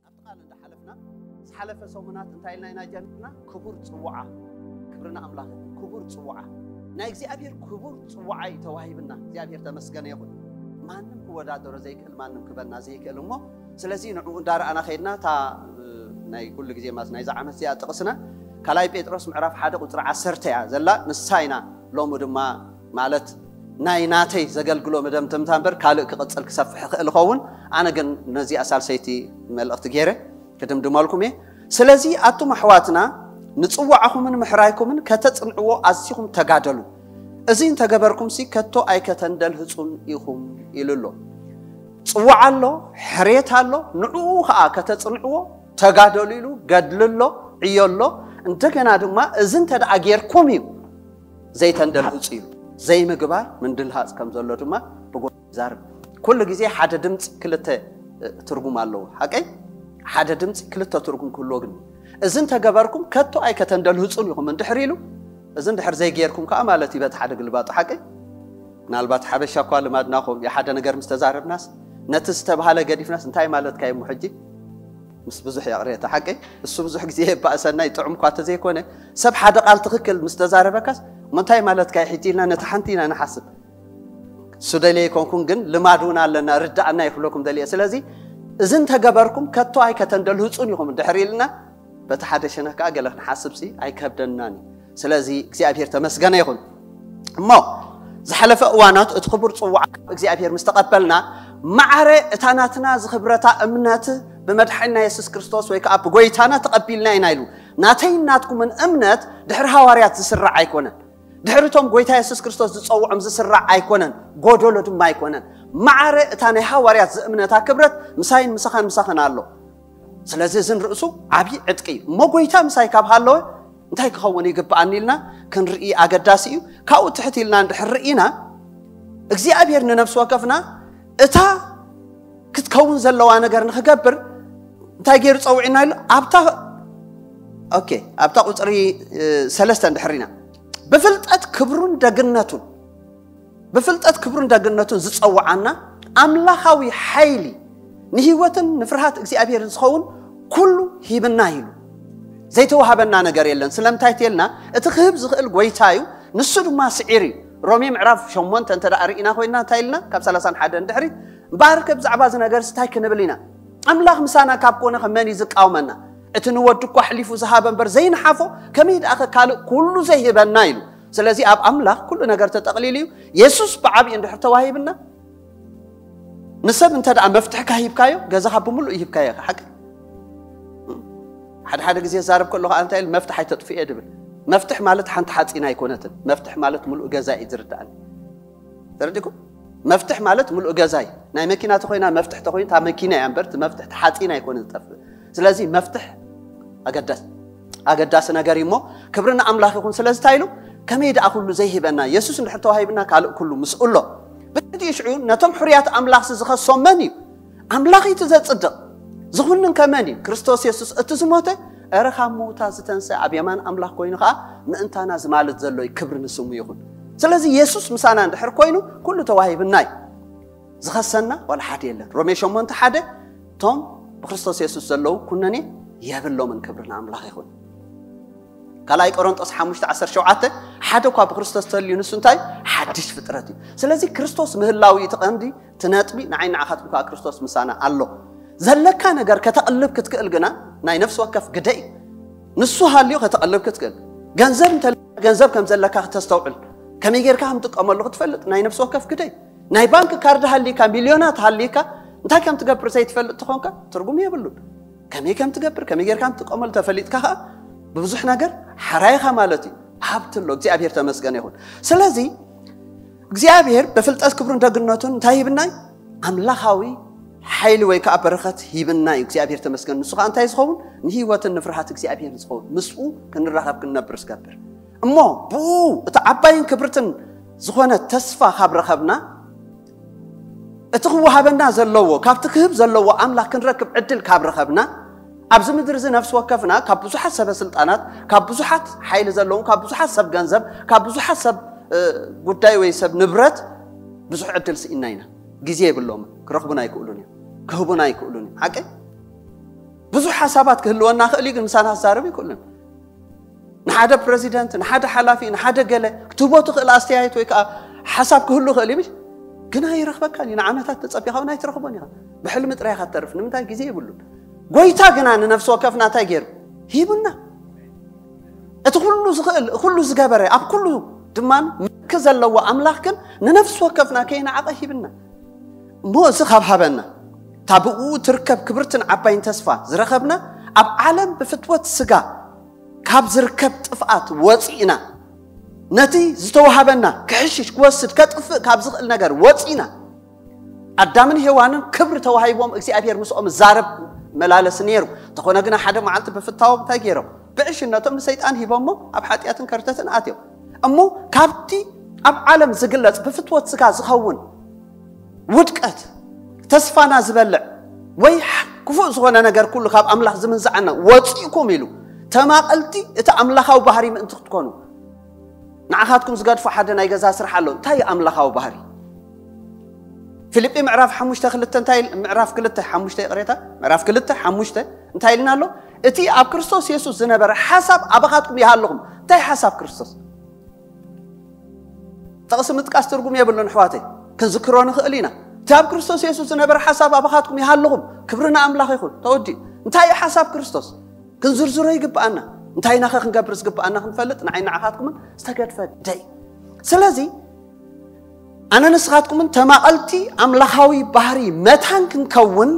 ኣብቲ ቃል እንዳሓለፍና ዝሓለፈ ሰሙናት እንታይ ኢልና ኢና ጀሚርና? ክቡር ጽዋዓ። ክብሪ ንኣምላኽ ይኹን። ክቡር ጽዋዓ፣ ናይ እግዚኣብሔር ክቡር ጽዋዓ እዩ ተዋሂብና። እግዚኣብሔር ተመስገነ ይኹን። ማንም ክወዳደሮ ዘይክእል፣ ማንም ክበና ዘይክእል እሞ፣ ስለዚ ንዕኡ እንዳረኣና ከይድና፣ እታ ናይ ኩሉ ግዜ ማለት ናይዛ ዓመት እዚኣ ጥቕስና ካልኣይ ጴጥሮስ ምዕራፍ ሓደ ቁጽሪ ዓሰርተ እያ ዘላ። ንሳ ኢና ሎሚ ድማ ማለት ናይ ናተይ ዘገልግሎ መደምደምታ እምበር ካልእ ክቕጽል ክሰፍሕ ይኽእል ይኸውን። ኣነ ግን ነዚኣ ሳልሰይቲ መልእኽቲ ገይረ ክድምድመልኩም እየ። ስለዚ ኣቱም ኣሕዋትና፣ ንጽዋዕኹምን ምሕራይኩምን ከተጽንዕዎ ኣዚኹም ተጋደሉ። እዚ እንተገበርኩምሲ ከቶ ኣይከተንደልህጹን ኢኹም ኢሉ ኣሎ። ጽዋዕ ኣሎ፣ ሕሬት ኣሎ፣ ንዕኡ ኸኣ ከተጽንዕዎ ተጋደሉ ኢሉ፣ ገድሊ ኣሎ፣ ዕዮ ኣሎ። እንደገና ድማ እዚ እንተ ደኣ ጌርኩም እዩ ዘይተንደልህጹ ኢሉ። ዘይምግባር ምንድልሃጽ ከም ዘሎ ድማ ብጎ ይዛርብ። ኩሉ ግዜ ሓደ ድምጺ ክልተ ትርጉም ኣለዎ። ሓቀይ? ሓደ ድምጺ ክልተ ትርጉም ክህልዎ ግን፣ እዚ እንተገበርኩም ከቶ ኣይከተንደልህጹን ኢኹም እንድሕር ኢሉ፣ እዚ እንድሕር ዘይጌርኩም ከኣ ማለት እዩ በቲ ሓደ ግልባጡ። ሓቀይ? ምናልባት ሓበሻ እኳ ልማድናኹም የሓደ ነገር ምስ ተዛረብናስ፣ ነቲ ዝተባህለ ገዲፍናስ እንታይ ማለትካ እዩ እሞ ሕጂ? ምስ ብዙሕ ይቕሬታ፣ ሓቀይ? እሱ ብዙሕ ግዜ የባእሰና፣ ይጥዑም እኳ ተዘይኮነ፣ ሰብ ሓደ ቃል ትኽክል ምስ ተዛረበካስ፣ እሞ እንታይ ማለትካ እዩ ሕጂ ኢልና ነቲ ሓንቲ ኢና ንሓስብ። እሱ ደልየ ኣይኮንኩን፣ ግን ልማድ እውን ኣለና፣ ርዳእና ይክለኩም ደልየ። ስለዚ እዚ እንተገበርኩም ከቶ ኣይከተንደልህጹን ኢኹም እንድሕር ኢልና፣ በቲ ሓደ ሸነኽ ከኣ ገለ ክንሓስብሲ ኣይከብደናን እዩ። ስለዚ እግዚኣብሔር ተመስገነ ይኹን። እሞ ዝሓለፈ እዋናት እቲ ክቡር ጽዋዕ ካብ እግዚኣብሔር ምስ ተቐበልና፣ ማዕረ እታ ናትና ዝኽብረታ እምነት ብመድሓኒና የሱስ ክርስቶስ ወይ ከኣ ብጎይታና ተቐቢልና ኢና ኢሉ። ናተይን ናትኩምን እምነት ድሕሪ ሃዋርያት ዝስራዕ ኣይኮነን። ድሕሪ እቶም ጎይታ የሱስ ክርስቶስ ዝጸውዖም ዝስራዕ ኣይኮነን፣ ጎደሎ ድማ ኣይኮነን። ማዕረ እታ ናይ ሃዋርያት ዝእምነታ ክብረት ምሳይን ምሳኻን ምሳኽን ኣሎ። ስለዚ እዚ ንርእሱ ዓብዪ ዕጥቂ እዩ። እሞ ጎይታ ምሳይ ካብ ሃለወ እንታይ ክኸውን ይግብኣኒ ኢልና ክንርኢ ኣገዳሲ እዩ። ካብኡ ትሕት ኢልና እንድሕር ርኢና፣ እግዚኣብሔር ንነፍሲ ወከፍና እታ ክትከውን ዘለዋ ነገር ንኽገብር እንታይ ገይሩ ጸውዒና ኢሉ? ኣብታ፣ ኦኬ፣ ኣብታ ቁጽሪ፣ እ፣ ሰለስተ እንድሕር ኢና፣ ብፍልጠት ክብሩን ደግነቱን፣ ብፍልጠት ክብሩን ደግነቱን ዝጸውዓና ኣምላኻዊ ሓይሊ ንህይወትን ንፍርሃት እግዚኣብሔር ዝኸውን ኩሉ ሂብና ኢሉ። ዘይተዋሃበና ነገር የለን። ስለምንታይ ተልና? እቲ ክህብ ዝኽእል ጎይታ እዩ፣ ንሱ ድማ ስዒር እዩ። ሮሜ ምዕራፍ ሸሞንተ እንተ ደኣ ርኢና ኮይንና እንታይ ኢልና? ካብ ሰላሳን ሓደ ንድሕሪት፣ እምበኣርከ ብዛዕባ እዚ ነገርስ እንታይ ክንብል ኢና? ኣምላኽ ምሳና ካብ ኮነ ከ መን እዩ ዝቃወመና? እቲ ንወዱ እኳ ኣሕሊፉ ዝሃበ እምበር ዘይንሓፎ፣ ከመይ ደኣ ከ ካልእ ኩሉ ዘይህበና ኢሉ። ስለዚ ኣብ ኣምላኽ ኩሉ ነገር ተጠቕሊሉ እዩ። የሱስ ብዓብዪ እንድሕር ተዋሂብና፣ ንሰብ እንተ ደኣ መፍትሕካ ሂብካዮ፣ ገዛኻ ብምሉእ ይህብካዮ ኢኻ። ሓቂ? ሓደ ሓደ ግዜ ዛረብ ከለኹ እንታይ ኢል፣ "መፍትሕ ኣይተጥፍኤ" ድብል። መፍትሕ ማለት ሓንቲ ሓፂን ኣይኮነትን። መፍትሕ ማለት ምሉእ ገዛ እዩ ዝርዳእኒ። ተረዲእኩም? መፍትሕ ማለት ምሉእ ገዛ እዩ። ናይ መኪና ተኾይና መፍትሕ ተኾይኑ፣ እታ መኪና እያ እምበር፣ እቲ መፍትሕ፣ እቲ ሓፂን ኣይኮነ ዝጠፍእ። ስለዚ መፍትሕ ኣገዳሲ፣ ኣገዳሲ ነገር እዩ። እሞ ክብሪ ንኣምላኽ ይኹን። ስለዚ እንታይ ኢሉ? "ከመይ ደኣ ኩሉ ዘይሂበና? የሱስ እንድሕር ተዋሂብና፣ ካልእ ኩሉ ምስኡ ኣሎ." ብድሕሪኡ ሽዑ ነቶም ሕሩያት ኣምላኽሲ ዝኸሶም መን እዩ? ኣምላኽ እዩ እቲ ዘጽድቕ። ዝኹንን ከ መን እዩ? ክርስቶስ የሱስ እቲ ዝሞተ፣ እረ ካብ ምዉታት ዝተንስአ፣ ኣብ የማን ኣምላኽ ኮይኑ ኸኣ ምእንታና ዝማልድ ዘሎ እዩ። ክብሪ ንስሙ ይኹን። ስለዚ የሱስ ምሳና እንድሕር ኮይኑ፣ ኩሉ ተዋሂብና እዩ። ዝኸሰና ዋላ ሓደ የለን። ሮሜ ሸሞንተ ሓደ፣ "እቶም ብክርስቶስ የሱስ ዘለዉ ኩነኔ የብሎምን፣ ክብሪ ንኣምላኽ ይኹን." ካልኣይ ቆሮንጦስ ሓሙሽተ ዓሰርተ ሸውዓተ፣ "ሓደ እኳ ብክርስቶስ ተልዩ፣ ንሱ እንታይ? ሓድሽ ፍጥረት እዩ።" ስለዚ ክርስቶስ ምህላው እዩ እቲ ቀንዲ፣ እቲ ነጥቢ። ንዓይ ንዓኻትኩም ከኣ ክርስቶስ ምሳና ኣሎ። ዘለካ ነገር ከተቕልብ ክትክእል ግና ናይ ነፍሲ ወከፍ ግደ እዩ። ንሱ ሃልዩ ከተቕልብ ክትክእል። ገንዘብ እንተ ገንዘብ ከም ዘለካ ክተስተውዕል፣ ከመይ ጌርካ ከም ትጥቀመሉ ክትፈልጥ ናይ ነፍሲ ወከፍ ግደ እዩ። ናይ ባንክ ካርድ ሃሊካ፣ ሚልዮናት ሃሊካ፣ እንታይ ከም ትገብር ዘይትፈልጥ ተኾንካ፣ ትርጉም የብሉን። ከመይ ከም ትገብር፣ ከመይ ጌርካ ከም ትጥቀመሉ ተፈሊጥካ ኸኣ፣ ብብዙሕ ነገር ሓራይኻ ማለት እዩ። ሃብቲ ኣሎ፣ እግዚኣብሔር ተመስገነ ይኹን። ስለዚ፣ እግዚኣብሔር ብፍልጠት ክብሩን ደግነቱን እንታይ ሂብና እዩ? ኣምላኻዊ ሓይሊ ወይ ከኣ በረኸት ሂብና እዩ። እግዚኣብሔር ተመስገን። ንሱ ኸኣ እንታይ ዝኸውን? ንህይወትን ንፍርሃት እግዚኣብሔር ዝኸውን። ምስኡ ክንራኸብ ክንነብር ዝገብር። እሞ ብኡ እቲ ዓባይን ክብርትን ዝኾነ ተስፋ ካብ ረኸብና፣ እቲ ክወሃበና ዘለዎ፣ ካብቲ ክህብ ዘለዎ ኣምላኽ ክንረክብ ዕድል ካብ ረኸብና፣ ኣብዚ ምድሪ እዚ ነፍሲ ወከፍና ካብ ብዙሓት ሰበ ስልጣናት፣ ካብ ብዙሓት ሓይሊ ዘለዎም፣ ካብ ብዙሓት ሰብ ገንዘብ፣ ካብ ብዙሓት ሰብ ጉዳይ ወይ ሰብ ንብረት ብዙሕ ዕድል ስኢና ኢና። ግዜ የብሎም፣ ክረኽቡና ኣይክእሉን እዮም፣ ክህቡና ኣይክእሉን እዮም። ሓቀይ? ብዙሕ ሓሳባት ክህልወና ክእል እዩ፣ ግን ምሳና ክዛረብ ይክእሉን። ንሓደ ፕረዚደንት፣ ንሓደ ሓላፊ፣ ንሓደ ገለ ክትህቦ ትኽእል ኣስተያየት ወይ ከዓ ሓሳብ ክህሉ ክእል እዩ። ግን ኣይረኽበካን እዩ። ንዓመታት ተጸቢኻ እውን ኣይትረኽቦን ኢኻ። ብሕልሚ ጥራይ ኢኻ ትተርፍ። ንምንታይ? ግዜ የብሉን። ጎይታ ግና ንነፍሲ ወከፍና እንታይ ገይሩ? ሂቡና። እቲ ኩሉ ዝኽእል፣ ኩሉ ዝገበረ፣ ኣብ ኩሉ ድማ ምልኪ ዘለዎ ኣምላኽ ግን ንነፍሲ ወከፍና ከይነዓቐ ሂብና። እሞ እዚ ካብ ሃበና፣ እታ ብእኡ ትርከብ ክብርትን ዓባይን ተስፋ ዝረኸብና፣ ኣብ ዓለም ብፍትወት ስጋ ካብ ዝርከብ ጥፍኣት ወፂእና፣ ነቲ ዝተዋሃበና ክሕሽሽ፣ ክወስድ፣ ከጥፍእ ካብ ዝኽእል ነገር ወፂእና፣ ኣዳምን ሄዋንን ክብሪ ተዋሂቦም እግዚኣብሔር ምስኦም ዛረብ መላለሲ ነይሩ። እንተኾነ ግና ሓደ መዓልቲ ብፍታዎም እንታይ ገይሮም? ብዕሽነቶም ንሰይጣን ሂቦሞ ኣብ ሓጢኣትን ከርተትን ኣትዮም። እሞ ካብቲ ኣብ ዓለም ዝግለጽ ብፍትወት ስጋ ዝኸውን ውድቀት፣ ተስፋና ዝበልዕ ወይ ክፉእ ዝኾነ ነገር ኩሉ ካብ ኣምላኽ ዝምንዝዓና ወፂእኩም ኢሉ፣ ተማቐልቲ እቲ ኣምላኻዊ ባህሪ ምእንቲ ክትኮኑ፣ ንዓኻትኩም ዝገድፎ ሓደ ናይ ገዛ ስራሕ ኣሎ። እንታይ እዩ ኣምላኻዊ ባህሪ? ፊልጲ ምዕራፍ ሓሙሽተ ክልተ እንታይ ኢል-፣ ምዕራፍ ክልተ ሓሙሽተ፣ ይቕሬታ፣ ምዕራፍ ክልተ ሓሙሽተ እንታይ ኢልና ኣሎ? እቲ ኣብ ክርስቶስ የሱስ ዝነበረ ሓሳብ ኣባኻትኩም ይሃልኹም። እንታይ ሓሳብ ክርስቶስ? ጥቕሲ ምጥቃስ ትርጉም የብሉን ኣሕዋተይ፣ ክንዝክሮ ንኽእል ኢና። እቲ ኣብ ክርስቶስ የሱስ ዝነበረ ሓሳብ ኣባኻትኩም ይሃልኹም። ክብሪ ንኣምላኽ ይኹን። ተወዲኡ። እንታይ እዩ ሓሳብ ክርስቶስ? ክንዝርዝሮ ይግብኣና። እንታይ ኢና ኸ ክንገብር ዝግብኣና ክንፈልጥ ንዓይ ንዓኻትኩምን ዝተገድፈ ደይ። ስለዚ ኣነ ንስኻትኩምን ተማቐልቲ ኣምላኻዊ ባህሪ መታን ክንከውን፣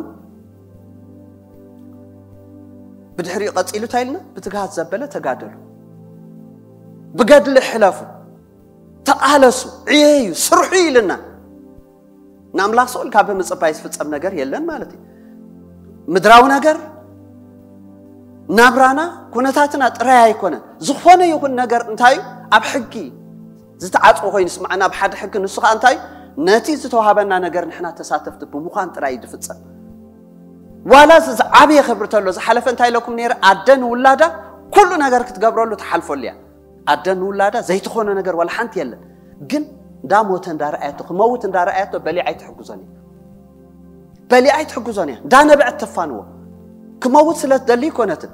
ብድሕሪኡ ቀጺሉ እንታይ ኢልና? ብትግሃት ዘበለ ተጋደሉ፣ ብገድሊ ሕለፉ፣ ተቓለሱ፣ ዕየዩ፣ ስርሑ ኢልና። ንኣምላኽ ስቕ ኢልካ ብምጽባይ ዝፍጸም ነገር የለን ማለት እዩ። ምድራዊ ነገር፣ ናብራና፣ ኩነታትና ጥራይ ኣይኮነን። ዝኾነ ይኹን ነገር እንታይ እዩ? ኣብ ሕጊ ዝተዓጽወ ኮይኑ ይስምዓና፣ ኣብ ሓደ ሕጊ። ንሱ ኸኣ እንታይ እዩ? ነቲ ዝተዋሃበና ነገር ንሕና ተሳተፍቲ ብምዃን ጥራይ እዩ ዝፍጸም። ዋላ እዚ ዝዓበየ ክብሪ ተሎ፣ ዝሓለፈ እንታይ ኢለኩም ነይረ? ኣደ ንውላዳ ኩሉ ነገር ክትገብረሉ ትሓልፈሉ እያ። ኣደ ንውላዳ ዘይትኾኖ ነገር ዋላ ሓንቲ የለን። ግን እንዳሞተ እንዳረኣየቶ፣ ክመውት እንዳረኣየቶ በሊዓ ኣይትሕግዞን እያ። በሊዓ ኣይትሕግዞን እያ። እንዳነበዐት ተፋንዎ። ክመውት ስለ ትደሊ ኣይኮነትን።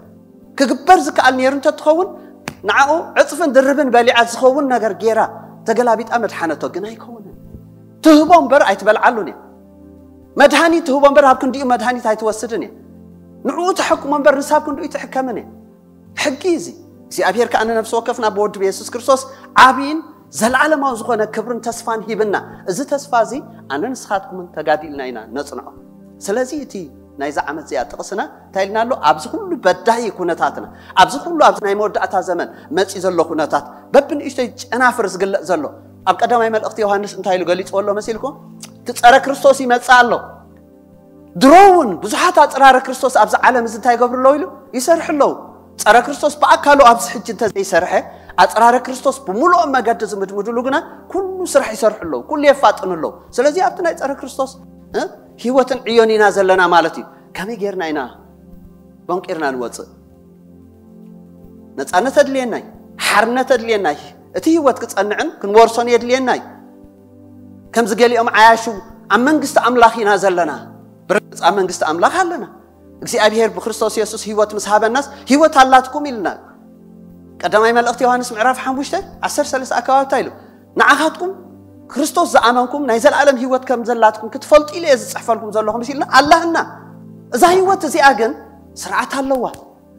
ክግበር ዝከኣል ነይሩ እንተትኸውን፣ ንዓኡ ዕጽፍን ድርብን በሊዓ ዝኸውን ነገር ገይራ ተገላቢጣ መድሓነቶ። ግን ኣይከውንን። ትህቦ እምበር ኣይትበልዓሉን እያ። መድሃኒት ትህቦ እምበር ኣብ ክንዲኡ መድሃኒት ኣይትወስድን እያ። ንዕኡ ተሐክሞ እምበር ንሳ ኣብ ክንዲኡ ኣይትሕከምን እያ። ሕጊ እዚ እግዚኣብሔር ከኣ ንነፍሲ ወከፍና ብወዱ ብየሱስ ክርስቶስ ዓብይን ዘለዓለማዊ ዝኾነ ክብርን ተስፋን ሂብና። እዚ ተስፋ እዚ ኣነ ንስኻትኩምን ተጋዲልና ኢና ነጽንዖ። ስለዚ እቲ ናይዛ ዓመት እዚኣ ጥቕስና እንታይ ኢልና ኣሎ? ኣብዚ ኩሉ በዳሂ ኩነታትና፣ ኣብዚ ኩሉ ኣብዚ ናይ መወዳእታ ዘመን መጺ ዘሎ ኩነታት፣ በብንእሽተይ ጨናፍር ዝግለጽ ዘሎ፣ ኣብ ቀዳማይ መልእኽቲ ዮሃንስ እንታይ ኢሉ ገሊጽዎ ኣሎ መሲልኩም? እቲ ጸረ ክርስቶስ ይመጽእ ኣሎ። ድሮ እውን ብዙሓት ኣጽራረ ክርስቶስ ኣብዚ ዓለም እዚ እንታይ ይገብሩ ኣለዉ ኢሉ ይሰርሑ ኣለዉ። ጸረ ክርስቶስ ብኣካሉ ኣብዚ ሕጂ እንተዘይሰርሐ፣ ኣጽራረ ክርስቶስ ብምሉኦም መገዲ ዝምድምድሉ ግና ኩሉ ስራሕ ይሰርሑ ኣለዉ፣ ኩሉ የፋጥኑ ኣለዉ። ስለዚ ኣብቲ ናይ ጸረ ክርስቶስ፣ እ፣ ህይወትን ዕዮን ኢና ዘለና ማለት እዩ። ከመይ ጌርና ኢና ቦንቂርና ንወጽእ? ነጻነት ኣድልየናይ፣ ሓርነት ኣድልየናይ፣ እቲ ህይወት ክጸንዕን ክንወርሶን የድልየናይ። ከምዚ ገሊኦም ዓያሹ ኣብ መንግስቲ ኣምላኽ ኢና ዘለና። ብርግጽ ኣብ መንግስቲ ኣምላኽ ኣለና። እግዚኣብሔር ብክርስቶስ የሱስ ህይወት ምስ ሃበናስ ህይወት ኣላትኩም ኢልና። ቀዳማይ መልእኽቲ ዮሃንስ ምዕራፍ ሓሙሽተ ዓሰርተ ሰለስተ ኣከባቢ እንታይ ኢሉ? ንዓኻትኩም ክርስቶስ ዝኣመንኩም ናይ ዘለኣለም ህይወት ከም ዘላትኩም ክትፈልጡ ኢለ እየ ዝጽሕፈልኩም ዘለኹ፣ ምስ ኢልና ኣላህና። እዛ ህይወት እዚኣ ግን ስርዓት ኣለዋ።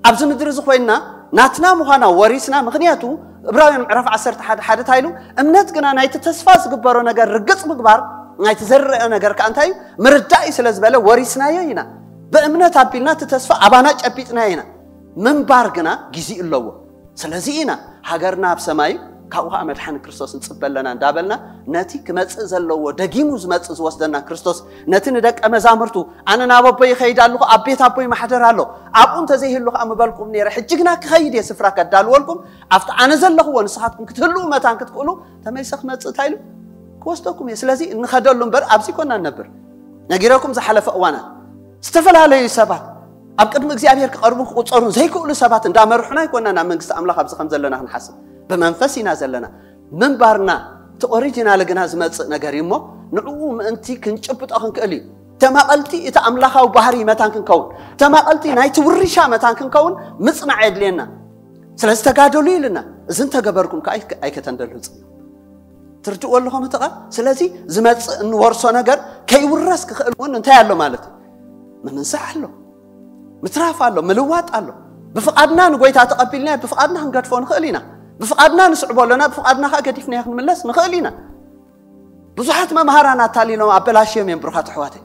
ኣብዚ ምድሪ እዚ ኮይንና ናትና ምዃና ወሪስና። ምኽንያቱ እብራውያን ምዕራፍ ዓሰርተ ሓደ ሓደ እንታይ ኢሉ? እምነት ግና ናይቲ ተስፋ ዝግበሮ ነገር ርግጽ ምግባር፣ ናይቲ ዘርአ ነገር ከኣ እንታይ እዩ? ምርዳእ እዩ ስለ ዝበለ ወሪስናዮ ኢና። ብእምነት ኣቢልና እቲ ተስፋ ኣባና ጨቢጥናዮ ኢና። ምንባር ግና ግዜ ኣለዎ። ስለዚ ኢና ሃገርና ኣብ ሰማይ፣ ካብኡ ኸዓ መድሓኒ ክርስቶስ ንጽበ ኣለና እንዳበልና፣ ነቲ ክመጽእ ዘለዎ፣ ደጊሙ ዝመጽእ ዝወስደና ክርስቶስ፣ ነቲ ንደቀ መዛሙርቱ፣ ኣነ ናብ ኣቦይ ይኸይድ ኣለኹ፣ ኣብ ቤት ኣቦይ ማሕደር ኣሎ፣ ኣብኡ እንተዘይህሉ ኸዓ ምበልኩም ነይረ፣ ሕጂ ግና ክኸይድ እየ፣ ስፍራ ከዳልወልኩም፣ ኣብቲ ኣነ ዘለኽዎ ንስኻትኩም ክትህልዉ መታን ክትክእሉ፣ ተመሊሰ ክመጽእ እንታይ ኢሉ? ክወስደኩም እየ። ስለዚ እንኸደሉ እምበር ኣብዚ ኮና ንነብር። ነጊረኩም ዝሓለፈ እዋናት ዝተፈላለዩ ሰባት ኣብ ቅድሚ እግዚኣብሔር ክቐርቡን ክቑጸሩን ዘይክእሉ ሰባት እንዳመርሑና ኣይኮና ናብ መንግስቲ ኣምላኽ ኣብዚ ከም ዘለና ክንሓስብ። ብመንፈስ ኢና ዘለና። ምንባርና እቲ ኦሪጂናል ግና ዝመጽእ ነገር እዩ እሞ ንዕኡ ምእንቲ ክንጭብጦ ክንክእል እዩ። ተማቐልቲ እቲ ኣምላኻዊ ባህሪ መታን ክንከውን፣ ተማቐልቲ ናይቲ ውርሻ መታን ክንከውን ምጽናዕ የድልየና። ስለዚ ተጋደሉ ኢልና፣ እዚ እንተገበርኩም ከዓ ኣይከ-፣ ኣይከተንደልሁ ጽ-፣ ትርድእዎ ኣለኹም እቲ ቃል? ስለዚ ዝመጽእ እንወርሶ ነገር ከይውረስ ክኽእል እውን እንታይ ኣሎ ማለት እዩ? ምምንሳሕ ኣሎ፣ ምትራፍ ኣሎ፣ ምልዋጥ ኣሎ። ብፍቓድና ንጎይታ ተቐቢልና ብፍቓድና ክንገድፎ ንኽእል ኢና። ብፍቓድና ንስዕቦ ኣለና፣ ብፍቓድና ከዓ ገዲፍናዮ ክንምለስ ንኽእል ኢና። ብዙሓት መምሃራን ኣታሊሎም ኣበላሽዮም እዮም ብሩኻት ኣሕዋተይ።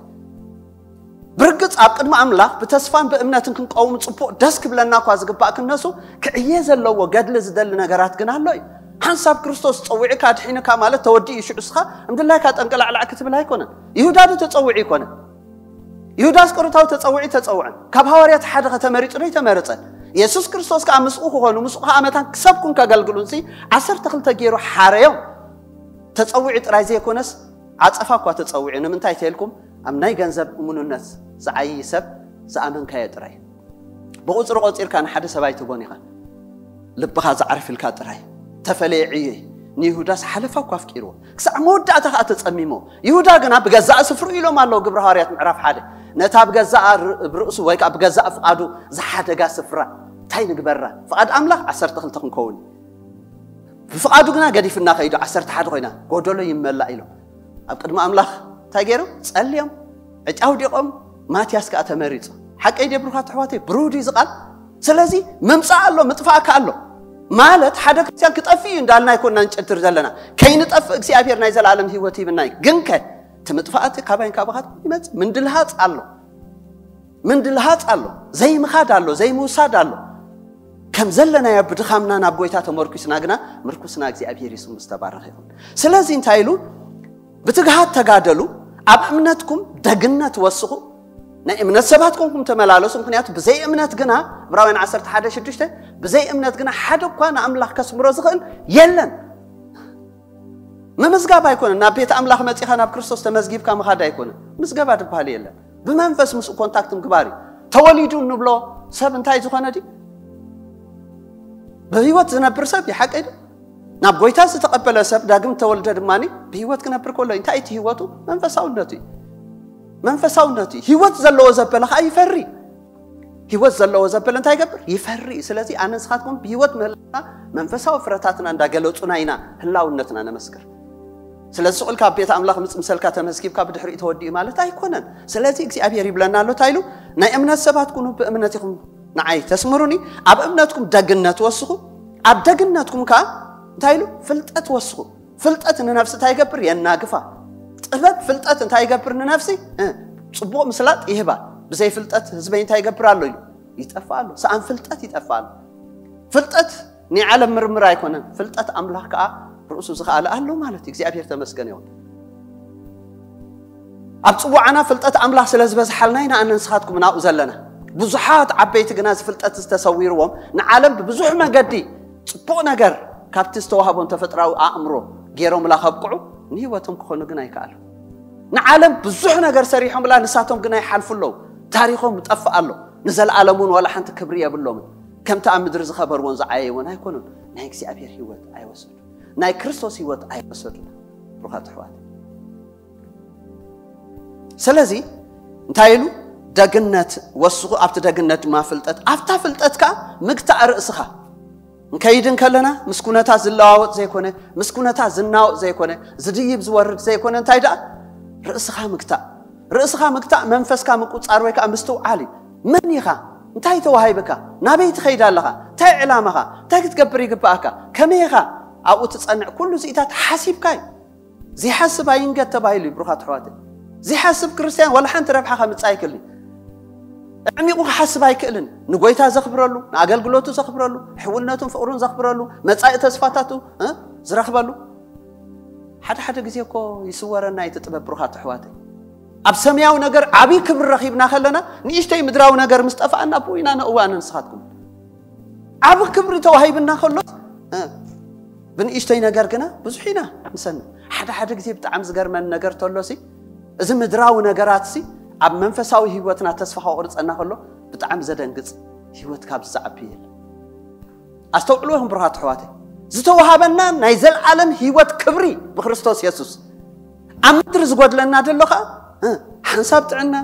ብርግጽ ኣብ ቅድሚ ኣምላኽ ብተስፋን ብእምነትን ክንቀውም ጽቡቕ ደስ ክብለና እኳ ዝግባእ ክነሱ ክዕየ ዘለዎ ገድሊ ዝደሊ ነገራት ግን ኣሎ እዩ። ሓንሳብ ክርስቶስ ጸዊዕካ ድሒንካ ማለት ተወዲኡ እዩ፣ ሽዑ እስኻ እምድላይካ ጠንቀላዕላዕ ክትብል ኣይኮነን። ይሁዳ ዶ ተጸዊዑ ይኮነ? ይሁዳ ኣስቆሮታዊ ተጸዊዑ ተጸውዐን። ካብ ሃዋርያት ሓደ ከተመሪጹ ዶ ይተመረጸን? የሱስ ክርስቶስ ከኣ ምስኡ ክኾኑ፣ ምስኡ ከኣ መታን ክሰብኩን ከገልግሉን ሲ ዓሰርተ ክልተ ገይሩ ሓረዮም። ተጸዊዑ ጥራይ ዘይኮነስ ዓጸፋ እኳ ተጸዊዑ። ንምንታይ ተልኩም? ኣብ ናይ ገንዘብ እሙንነት ዝዓዪ ሰብ ዝኣመንካዮ ጥራይ። ብቑጽሪ ቆጺርካ ንሓደ ሰብ ኣይትቦን ኢኻ። ልብኻ ዝዓርፍ ኢልካ ጥራይ። ተፈለየ ዕዮይ። ንይሁዳስ ሓለፋ እኳ ኣፍቂርዎ። ክሳዕ መወዳእታ ከኣ ተጸሚሞ። ይሁዳ ግና ብገዛእ ስፍርኡ ኢሎም ኣለዉ ግብሪ ሃዋርያት ምዕራፍ ሓደ። ነታ ብገዛእ ር-፣ ብርእሱ ወይ ከኣ ብገዛእ ፍቓዱ ዝሓደጋ ስፍራ እንታይ ንግበራ? ፍቓድ ኣምላኽ ዓሰርተ ክልተ ክንከውን። ብፍቓዱ ግና ገዲፍና ከይዱ ዓሰርተ ሓደ ኮይና፣ ጎደሎ ይመላእ ኢሎም። ኣብ ቅድሚ ኣምላኽ እንታይ ገይሮም? ጸልዮም፣ ዕጫ ኣውዲቖም፣ ማትያስ ከኣ ተመሪጹ። ሓቀይ ድየ ብሩኻት ኣሕዋተይ? ብሩህ ድዩ እዚ ቃል? ስለዚ ምምጻእ ኣሎ፣ ምጥፋእ ከኣ ኣሎ። ማለት ሓደ ክርስትያን ክጠፍእ እዩ እንዳልና ኣይኮንና ንጨድር ዘለና። ከይንጠፍእ እግዚኣብሔር ናይ ዘለኣለም ህይወት ሂብና እዩ። ግን ከ እቲ ምጥፋእ እቲ ካባይን ካባኻት ይመጽእ። ምንድልሃጽ ኣሎ። ምንድልሃጽ ኣሎ። ዘይምኻድ ኣሎ፣ ዘይምውሳድ ኣሎ። ከም ዘለናዮ ብድኻምና ናብ ጎይታ ተመርኩስና ግና ምርኩስና እግዚኣብሔር ይስሙ ዝተባረኸ ይኹን። ስለዚ እንታይ ኢሉ? ብትግሃት ተጋደሉ፣ ኣብ እምነትኩም ደግነት ወስኹ፣ ናይ እምነት ሰባት ኮንኩም ተመላለሱ፣ ምኽንያቱ ብዘይ እምነት ግና፣ ዕብራውያን ዓሰርተ ሓደ ሽዱሽተ፣ ብዘይ እምነት ግና ሓደ እኳ ንኣምላኽ ከስምሮ ዝኽእል የለን። ምምዝጋብ ኣይኮነን፣ ናብ ቤት ኣምላኽ መጺኻ ናብ ክርስቶስ ተመዝጊብካ ምኻድ ኣይኮነን። ምዝገባ ዝበሃል የለን። ብመንፈስ ምስኡ ኮንታክት ምግባር እዩ። ተወሊዱ እንብሎ ሰብ እንታይ ዝኾነ ድዩ? ብህይወት ዝነብር ሰብ እዩ፣ ሓቀይ ድዩ? ናብ ጎይታ ዝተቐበለ ሰብ ዳግም ተወልደ ድማ ብህይወት ክነብር ከሎ እዩ። እንታይ እቲ ህይወቱ? መንፈሳውነቱ እዩ። መንፈሳውነቱ እዩ። ህይወት ዘለዎ ዘበለ ኸዓ ይፈሪ። ህይወት ዘለዎ ዘበለ እንታይ ይገብር? ይፈሪ እዩ። ስለዚ ኣነ ንስኻትኩም ብህይወት ምህላውና መንፈሳዊ ፍረታትና እንዳገለጹና ኢና ህላውነትና ነመስክር። ስለዚ ስቕ ኢልካ ኣብ ቤት ኣምላኽ ምጽ ምሰልካ ተመዝጊብካ ብድሕሪኡ ተወዲኡ ማለት ኣይኮነን። ስለዚ እግዚኣብሔር ይብለና ኣሎ እንታይ ኢሉ? ናይ እምነት ሰባት ኩኑ፣ ብእምነት ኢኹም ንዓይ ተስምሩኒ፣ ኣብ እምነትኩም ደግነት ወስኹ፣ ኣብ ደግነትኩም ከኣ እንታይ ኢሉ? ፍልጠት ወስኹ። ፍልጠት ንነፍሲ እንታይ ይገብር? የናግፋ። ጥበብ ፍልጠት እንታይ ይገብር ንነፍሲ? እ፣ ጽቡቕ ምስላጥ ይህባ። ብዘይ ፍልጠት ህዝበይ እንታይ ይገብር ኣሎ ኢሉ ይጠፍእ ኣሎ። ሰኣን ፍልጠት ይጠፍእ ኣሎ። ፍልጠት ናይ ዓለም ምርምር ኣይኮነን። ፍልጠት ኣምላኽ ከኣ ርእሱ ዝኸኣለ ኣሎ ማለት እዩ። እግዚኣብሔር ተመስገን ይኹን። ኣብ ጽዋዓና ፍልጠት ኣምላኽ ስለ ዝበዝሓልና ኢና ኣነ ንስኻትኩም ናብኡ ዘለና። ብዙሓት ዓበይቲ ግና እዚ ፍልጠት ዝተሰዊርዎም ንዓለም ብብዙሕ መገዲ ጽቡቕ ነገር ካብቲ ዝተዋህቦም ተፈጥራዊ ኣእምሮ ገይሮምላ ከብቅዑ ንህይወቶም ክኾኑ ግን ኣይከኣሉ። ንዓለም ብዙሕ ነገር ሰሪሖምላ ንሳቶም ግና ይሓልፉ ኣለዉ። ታሪኾም ይጠፍእ ኣሎ። ንዘለኣለም እውን ዋላ ሓንቲ ክብሪ የብሎምን። ከምቲ ኣብ ምድሪ ዝኸበርዎን ዝዓየይዎን ኣይኮኑን። ናይ እግዚኣብሔር ህይወት ኣይወሰዱ። ናይ ክርስቶስ ህይወት ኣይወሰዱን። ብሩኻት ኣሕዋት። ስለዚ እንታይ ኢሉ? ደግነት ወስኹ፣ ኣብቲ ደግነት ድማ ፍልጠት፣ ኣብታ ፍልጠት ከኣ ምግታእ ርእስኻ። ንከይድ እንከለና ምስ ኩነታት ዝለዋወጥ ዘይኮነ፣ ምስ ኩነታት ዝናወጥ ዘይኮነ፣ ዝድይብ ዝወርድ ዘይኮነ፣ እንታይ ደኣ? ርእስኻ ምግታእ። ርእስኻ ምግታእ መንፈስካ ምቁጻር ወይ ከኣ ምስትውዓል እዩ። መን ኢኻ? እንታይ ተዋሂብካ? ናበይ ትኸይድ ኣለኻ? እንታይ ዕላማኻ? እንታይ ክትገብር ይግብኣካ? ከመይ ኢኻ ኣብኡ ትጸንዕ? ኩሉ እዚኢታት ሓሲብካ እዩ። ዘይሓስብ ኣይንገድ ተባሂሉ እዩ፣ ብሩኻት ኣሕዋተይ። ዘይሓስብ ክርስትያን ዋላ ሓንቲ ረብሓ ከምጽእ ኣይክእልን። ኣዕሚቑ ክሓስብ ኣይክእልን። ንጎይታ ዘኽብረሉ፣ ንኣገልግሎቱ ዘኽብረሉ፣ ሕውነቱን ፍቕሩን ዘኽብረሉ፣ መጻኢ ተስፋታቱ፣ እ፣ ዝረኽበሉ። ሓደ ሓደ ግዜ እኮ ይስወረና እዩ እቲ ጥበብ፣ ብሩኻት ኣሕዋተይ። ኣብ ሰማያዊ ነገር ዓብዪ ክብሪ ረኺብና ከለና፣ ንእሽተይ ምድራዊ ነገር ምስ ጠፍኣና፣ ኣብኡ ኢና ነእዋነ ንስኻትኩም። ዓቢ ክብሪ ተዋሂብና ከሎስ፣ እ፣ ብንእሽተይ ነገር ግና ብዙሕ ኢና ንሰንፍ። ሓደ ሓደ ግዜ ብጣዕሚ ዝገርመኒ ነገር ተሎሲ፣ እዚ ምድራዊ ነገራት ሲ ኣብ መንፈሳዊ ህይወትና ተስፋ ከቑርጸና ከሎ ብጣዕሚ ዘደንግጽ ህይወት ካብ ዝዓቢ የለን። ኣስተውዕሉ ኢኹም ብሩኻት ኣሕዋተይ፣ ዝተዋሃበና ናይ ዘለዓለም ህይወት ክብሪ ብክርስቶስ የሱስ። ኣብ ምድሪ ዝጎድለና ዘሎ ከዓ እ፣ ሓንሳብ ጥዕና፣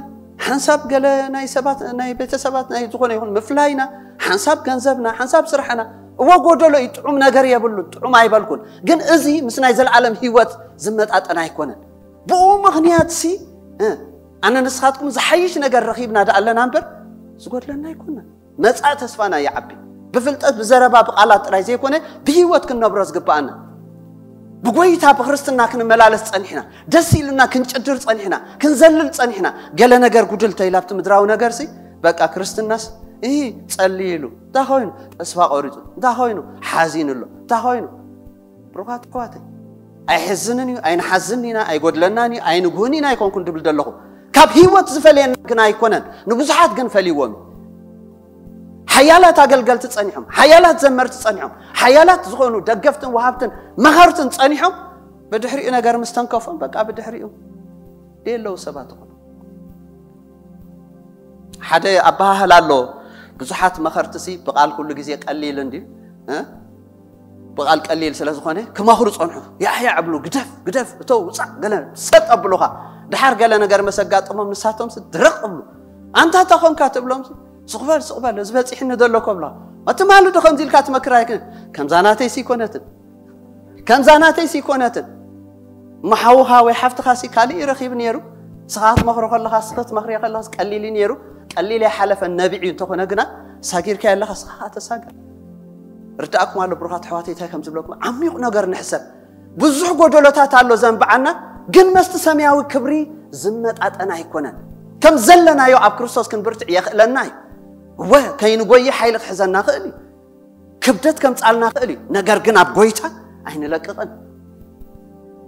ሓንሳብ ገለ ናይ ሰባት ናይ ቤተሰባት ናይ ዝኾነ ይኹን ምፍላይና፣ ሓንሳብ ገንዘብና፣ ሓንሳብ ስራሕና። እወ ጎደሎ እዩ፣ ጥዑም ነገር የብሉን፣ ጥዑም ኣይበልኩን። ግን እዚ ምስ ናይ ዘለዓለም ህይወት ዝመጣጠን ኣይኮነን። ብኡ ምኽንያት ሲ እ፣ ኣነ ንስኻትኩም ዝሓይሽ ነገር ረኺብና ደኣ ኣለና እምበር ዝጎድለና ኣይኮነን። መጻኢ ተስፋና ይዓቢ። ብፍልጠት ብዘረባ ብቃላት ጥራይ ዘይኮነ ብህይወት ክንነብሮ ዝግባኣና። ብጎይታ ብክርስትና ክንመላለስ ጸኒሕና፣ ደስ ኢሉና ክንጭድር ጸኒሕና፣ ክንዘልል ጸኒሕና። ገለ ነገር ጉድል ተይላ ኣብቲ ምድራዊ ነገር ሲ በቃ ክርስትናስ እ፣ ጸልዩ ኢሉ እንታይ ኮይኑ፣ ተስፋ ቆሪጹ እንታይ ኮይኑ፣ ሓዚኑ ኣሎ እንታይ ኮይኑ። ብሩኻት ኣሕዋተይ፣ ኣይሕዝንን እዩ፣ ኣይንሓዝን ኢና፣ ኣይጎድለናን እዩ፣ ኣይንጉህን ኢና ኣይኮንኩን ድብል ዘለኹ። ካብ ህይወት ዝፈልየና ግን ኣይኮነን፣ ንብዙሓት ግን ፈልይዎም እዩ። ሓያላት ኣገልገልቲ ጸኒሖም፣ ሓያላት ዘመርቲ ጸኒሖም፣ ሓያላት ዝኾኑ ደገፍትን ወሃብትን መኸርትን ጸኒሖም። ብድሕሪኡ ነገር ምስ ተንከፎም በቃ ብድሕሪኡ ደየለዉ ሰባት ይኾኑ። ሓደ ኣበሃህላ ኣሎ። ብዙሓት መኸርትሲ ብቓል ኩሉ ግዜ ቀሊል እንድዩ እ፣ ብቓል ቀሊል ስለ ዝኾነ ክመኽሩ ጸንሑ። ያሕያ ዕብሉ፣ ግደፍ ግደፍ፣ እተው ውጻእ፣ ገለ ሰጥ ኣብሉኻ። ድሓር ገለ ነገር መስ ኣጋጥሞም ንሳቶም ሲ ድረቕ እብሉ። ኣንታ ተኾንካ ትብሎም ሲ፣ ስቕበል ስቕበል፣ እዚ በጺሕኒ ዘሎ ከብሉኻ። ትማሊ ዶ ከምዚ ኢልካ ትመክር ኣይክን። ከምዛ ናተይ ሲ ይኮነትን፣ ከምዛ ናተይ ሲ ይኮነትን። እሞ ሓውኻ ወይ ሓፍትኻ ሲ ካልእ እዩ ረኺቡ ነይሩ። ንስኻ ክትመኽሮ ከለኻ፣ ንስኻ ክትመኽርዮ ከለኻስ ቀሊል እዩ ነይሩ። ቀሊል ኣይሓለፈን፣ ነቢዕ እዩ። እንተኾነ ግና ሳጊርካዮ ኣለኻ፣ ንስኻ ከዓ ተሳገር። ርዳእኩም ኣሎ ብሩኻት ኣሕዋተይ፣ እንታይ ከም ዝብለኩም፣ ዓሚቕ ነገር ንሕሰብ። ብዙሕ ጎደሎታት ኣሎ ዘንብዓና፣ ግን መስቲ ሰማያዊ ክብሪ ዝመጣጠን ኣይኮነን። ከም ዘለናዮ ኣብ ክርስቶስ ክንብርትዕ የኽእለና እዩ። እወ፣ ከይንጎይ ሓይሊ ክሕዘና ክእል እዩ። ክብደት ከምጻልና ክእል እዩ። ነገር ግን ኣብ ጎይታ ኣይንለቅቕን።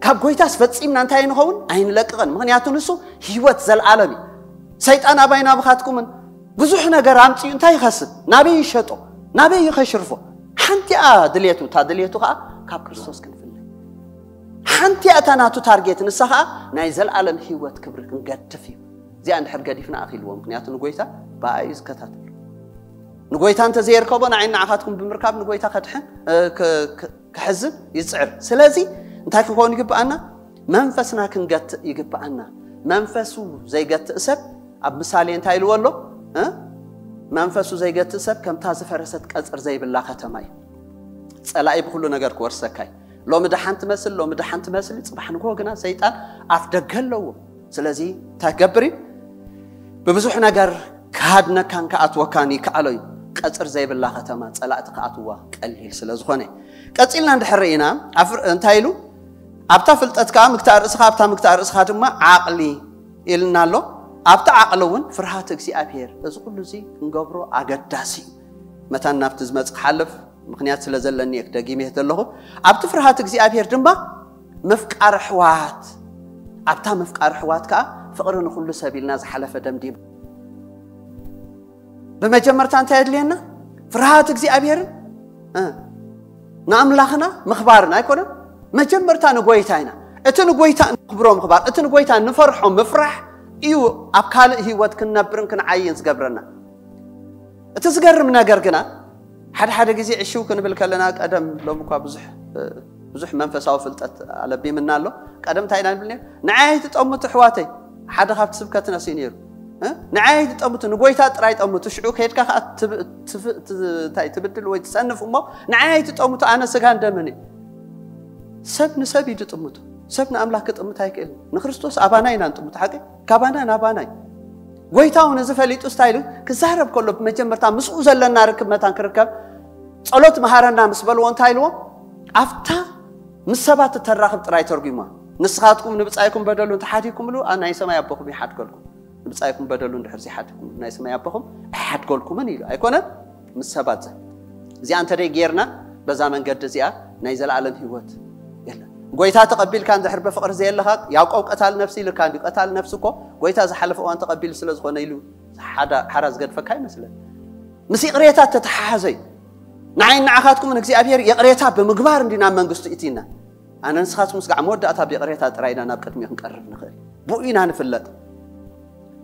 ካብ ጎይታስ ፈጺምና እንታይ ንኸውን? ኣይንለቅቕን። ምኽንያቱ ንሱ ህይወት ዘለዓለም እዩ። ሰይጣን ኣባይ ናብኻትኩምን ብዙሕ ነገር ኣምጺኡ እንታይ ይኸስብ? ናበይ ይሸጦ? ናበይ ይኸሽርፎ? ሓንቲ እያ ድልየቱ። እታ ድልየቱ ኸኣ ካብ ክርስቶስ ክንፍለ። ሓንቲ እያ እታ ናቱ ታርጌት፣ ንሳ ኸኣ ናይ ዘለዓለም ህይወት ክብሪ ክንገድፍ እዩ። እዚኣ እንድሕር ገዲፍና ኣኺልዎ። ምኽንያቱ ንጎይታ ብኣይ እዩ ዝከታተል። ንጎይታ እንተ ዘየርከቦ ንዓይ ንዓኻትኩም ብምርካብ ንጎይታ ከድሕን፣ እ፣ ክ-፣ ክ-፣ ክሕዝን ይጽዕር። ስለዚ እንታይ ክንከውን ይግብኣና? መንፈስና ክንገትእ ይግብኣና። መንፈሱ ዘይገትእ ሰብ ኣብ ምሳሌ እንታይ ኢልዎ ኣሎ? እ? መንፈሱ ዘይገትእ ሰብ ከምታ ዝፈረሰት ቀጽር ዘይብላ ከተማ እዩ። ጸላኢ ብኹሉ ነገር ክወርሰካ እዩ። ሎሚ ደሓን ትመስል፣ ሎሚ ደሓን ትመስል፣ ጽባሕ ንግሆ ግና ሰይጣን ኣፍ ደገ ኣለዎ። ስለዚ እንታይ ክገብር እዩ? ብብዙሕ ነገር ክሃድነካን ክኣትወካን ይከኣሎ እዩ። ቀጽር ዘይብላ ከተማ ጸላእቲ ክኣትዋ ቀሊል ስለ ዝኾነ። ቀጺልና እንድሕር ርኢና፣ ኣፍ-፣ እንታይ ኢሉ? ኣብታ ፍልጠት ከኣ ምግታእ ርእስኻ፣ ኣብታ ምግታእ ርእስኻ ድማ ዓቕሊ ኢልና ኣሎ። ኣብታ ዓቕሊ እውን ፍርሃት እግዚኣብሔር። እዚ ኩሉ እዚ ክንገብሮ ኣገዳሲ እዩ። መታን ናብቲ ዝመጽእ ክሓልፍ ምኽንያት ስለ ዘለኒ እየ ክደጊም እየ ዘለኹ። ኣብቲ ፍርሃት እግዚኣብሔር ድማ ምፍቃር ኣሕዋት፣ ኣብታ ምፍቃር ኣሕዋት ከኣ ፍቕሪ ንኹሉ ሰብ ኢልና ዝሓለፈ ደምዲም። ብመጀመርታ እንታይ የድልየና? ፍርሃት እግዚኣብሔርን፣ እ፣ ንኣምላኽና ምኽባርን ኣይኮነን? መጀመርታ ንጎይታ ኢና። እቲ ንጎይታ ንኽብሮ ምኽባር፣ እቲ ንጎይታ ንፈርሖ ምፍራሕ እዩ ኣብ ካልእ ህይወት ክንነብርን ክንዓይን ዝገብረና። እቲ ዝገርም ነገር ግና፣ ሓደ ሓደ ግዜ ዕሽው ክንብል ከለና፣ ቀደም፣ ሎሚ እኳ ብዙሕ፣ ብዙሕ መንፈሳዊ ፍልጠት ኣለቢምና ኣሎ። ቀደም እንታይ ኢና ንብል ነይሩ? ንዓይ ኣይትጠምቱ ኣሕዋተይ፣ ሓደ ካብቲ ስብከትናስ እዩ ነይሩ። እ? ንዓይ ኣይትጠምቱ፣ ንጎይታ ጥራይ ጠምቱ። ሽዑ ከይድካ ከኣ ትብ-፣ ትፍ-፣ ት-፣ እንታይ ትብድል ወይ ትጸንፍ እሞ፣ ንዓይ ኣይትጠምቱ፣ ኣነ ስጋን ደምን እየ። ሰብ ንሰብ እዩ ዝጥምቶ። ሰብ ንኣምላኽ ክጥምት ኣይክእልን። ንክርስቶስ ኣባና ኢና ንጥምቶ፣ ሓቂ? ካባና ናባና እዩ። ጎይታ እውን እዚ ፈሊጡ እንታይ ኢሉ ክዛረብ ከሎ፣ ብመጀመርታ ምስኡ ዘለና ርክብ መታን ክርከብ፣ "ጸሎት መሃረና" ምስ በልዎ እንታይ ኢልዎ? ኣብታ ምስ ሰባት እተራኽብ ጥራይ ተርጉማ። "ንስኻትኩም ንብጻይኩም በደሉ እንተሓዲግኩምሉ፣ ኣብ ናይ ሰማይ ኣቦኹም ይሓድገልኩም። ንብጻይኩም በደሉ እንድሕር ዘይሓድግኩም፣ ናይ ሰማይ ኣቦኹም ኣይሓድገልኩምን" ኢሉ። ኣይኮነን? ምስ ሰባት ዘ-፣ እዚኣ እንተ ደይ ጌርና፣ በዛ መንገዲ እዚኣ ናይ ዘለኣለም ህይወት የለን። ጎይታ ተቐቢልካ እንድሕር ብፍቕሪ ዘየለኻ፣ ያዕቆብ ቀታል ነፍሲ ኢልካ እንዲ፣ ቀታል ነፍሲ እኮ ጎይታ ዝሓለፈ እዋን ተቐቢሉ ስለ ዝኾነ ኢሉ ሓዳ-፣ ሓራ ዝገድፈካ ይመስለን። ምስ ይቕሬታ ተተሓሓዘ እዩ። ንዓይ ንዓኻትኩምን እግዚኣብሔር ይቕሬታ ብምግባር እንዲ ናብ መንግስቱ እቲና። ኣነ ንስኻትኩም ስጋዕ መወዳእታ ብይቕሬታ ጥራይ ኢና ናብ ቅድሚ ክንቀርብ ንኽእል። ብኡ ኢና ንፍለጥ።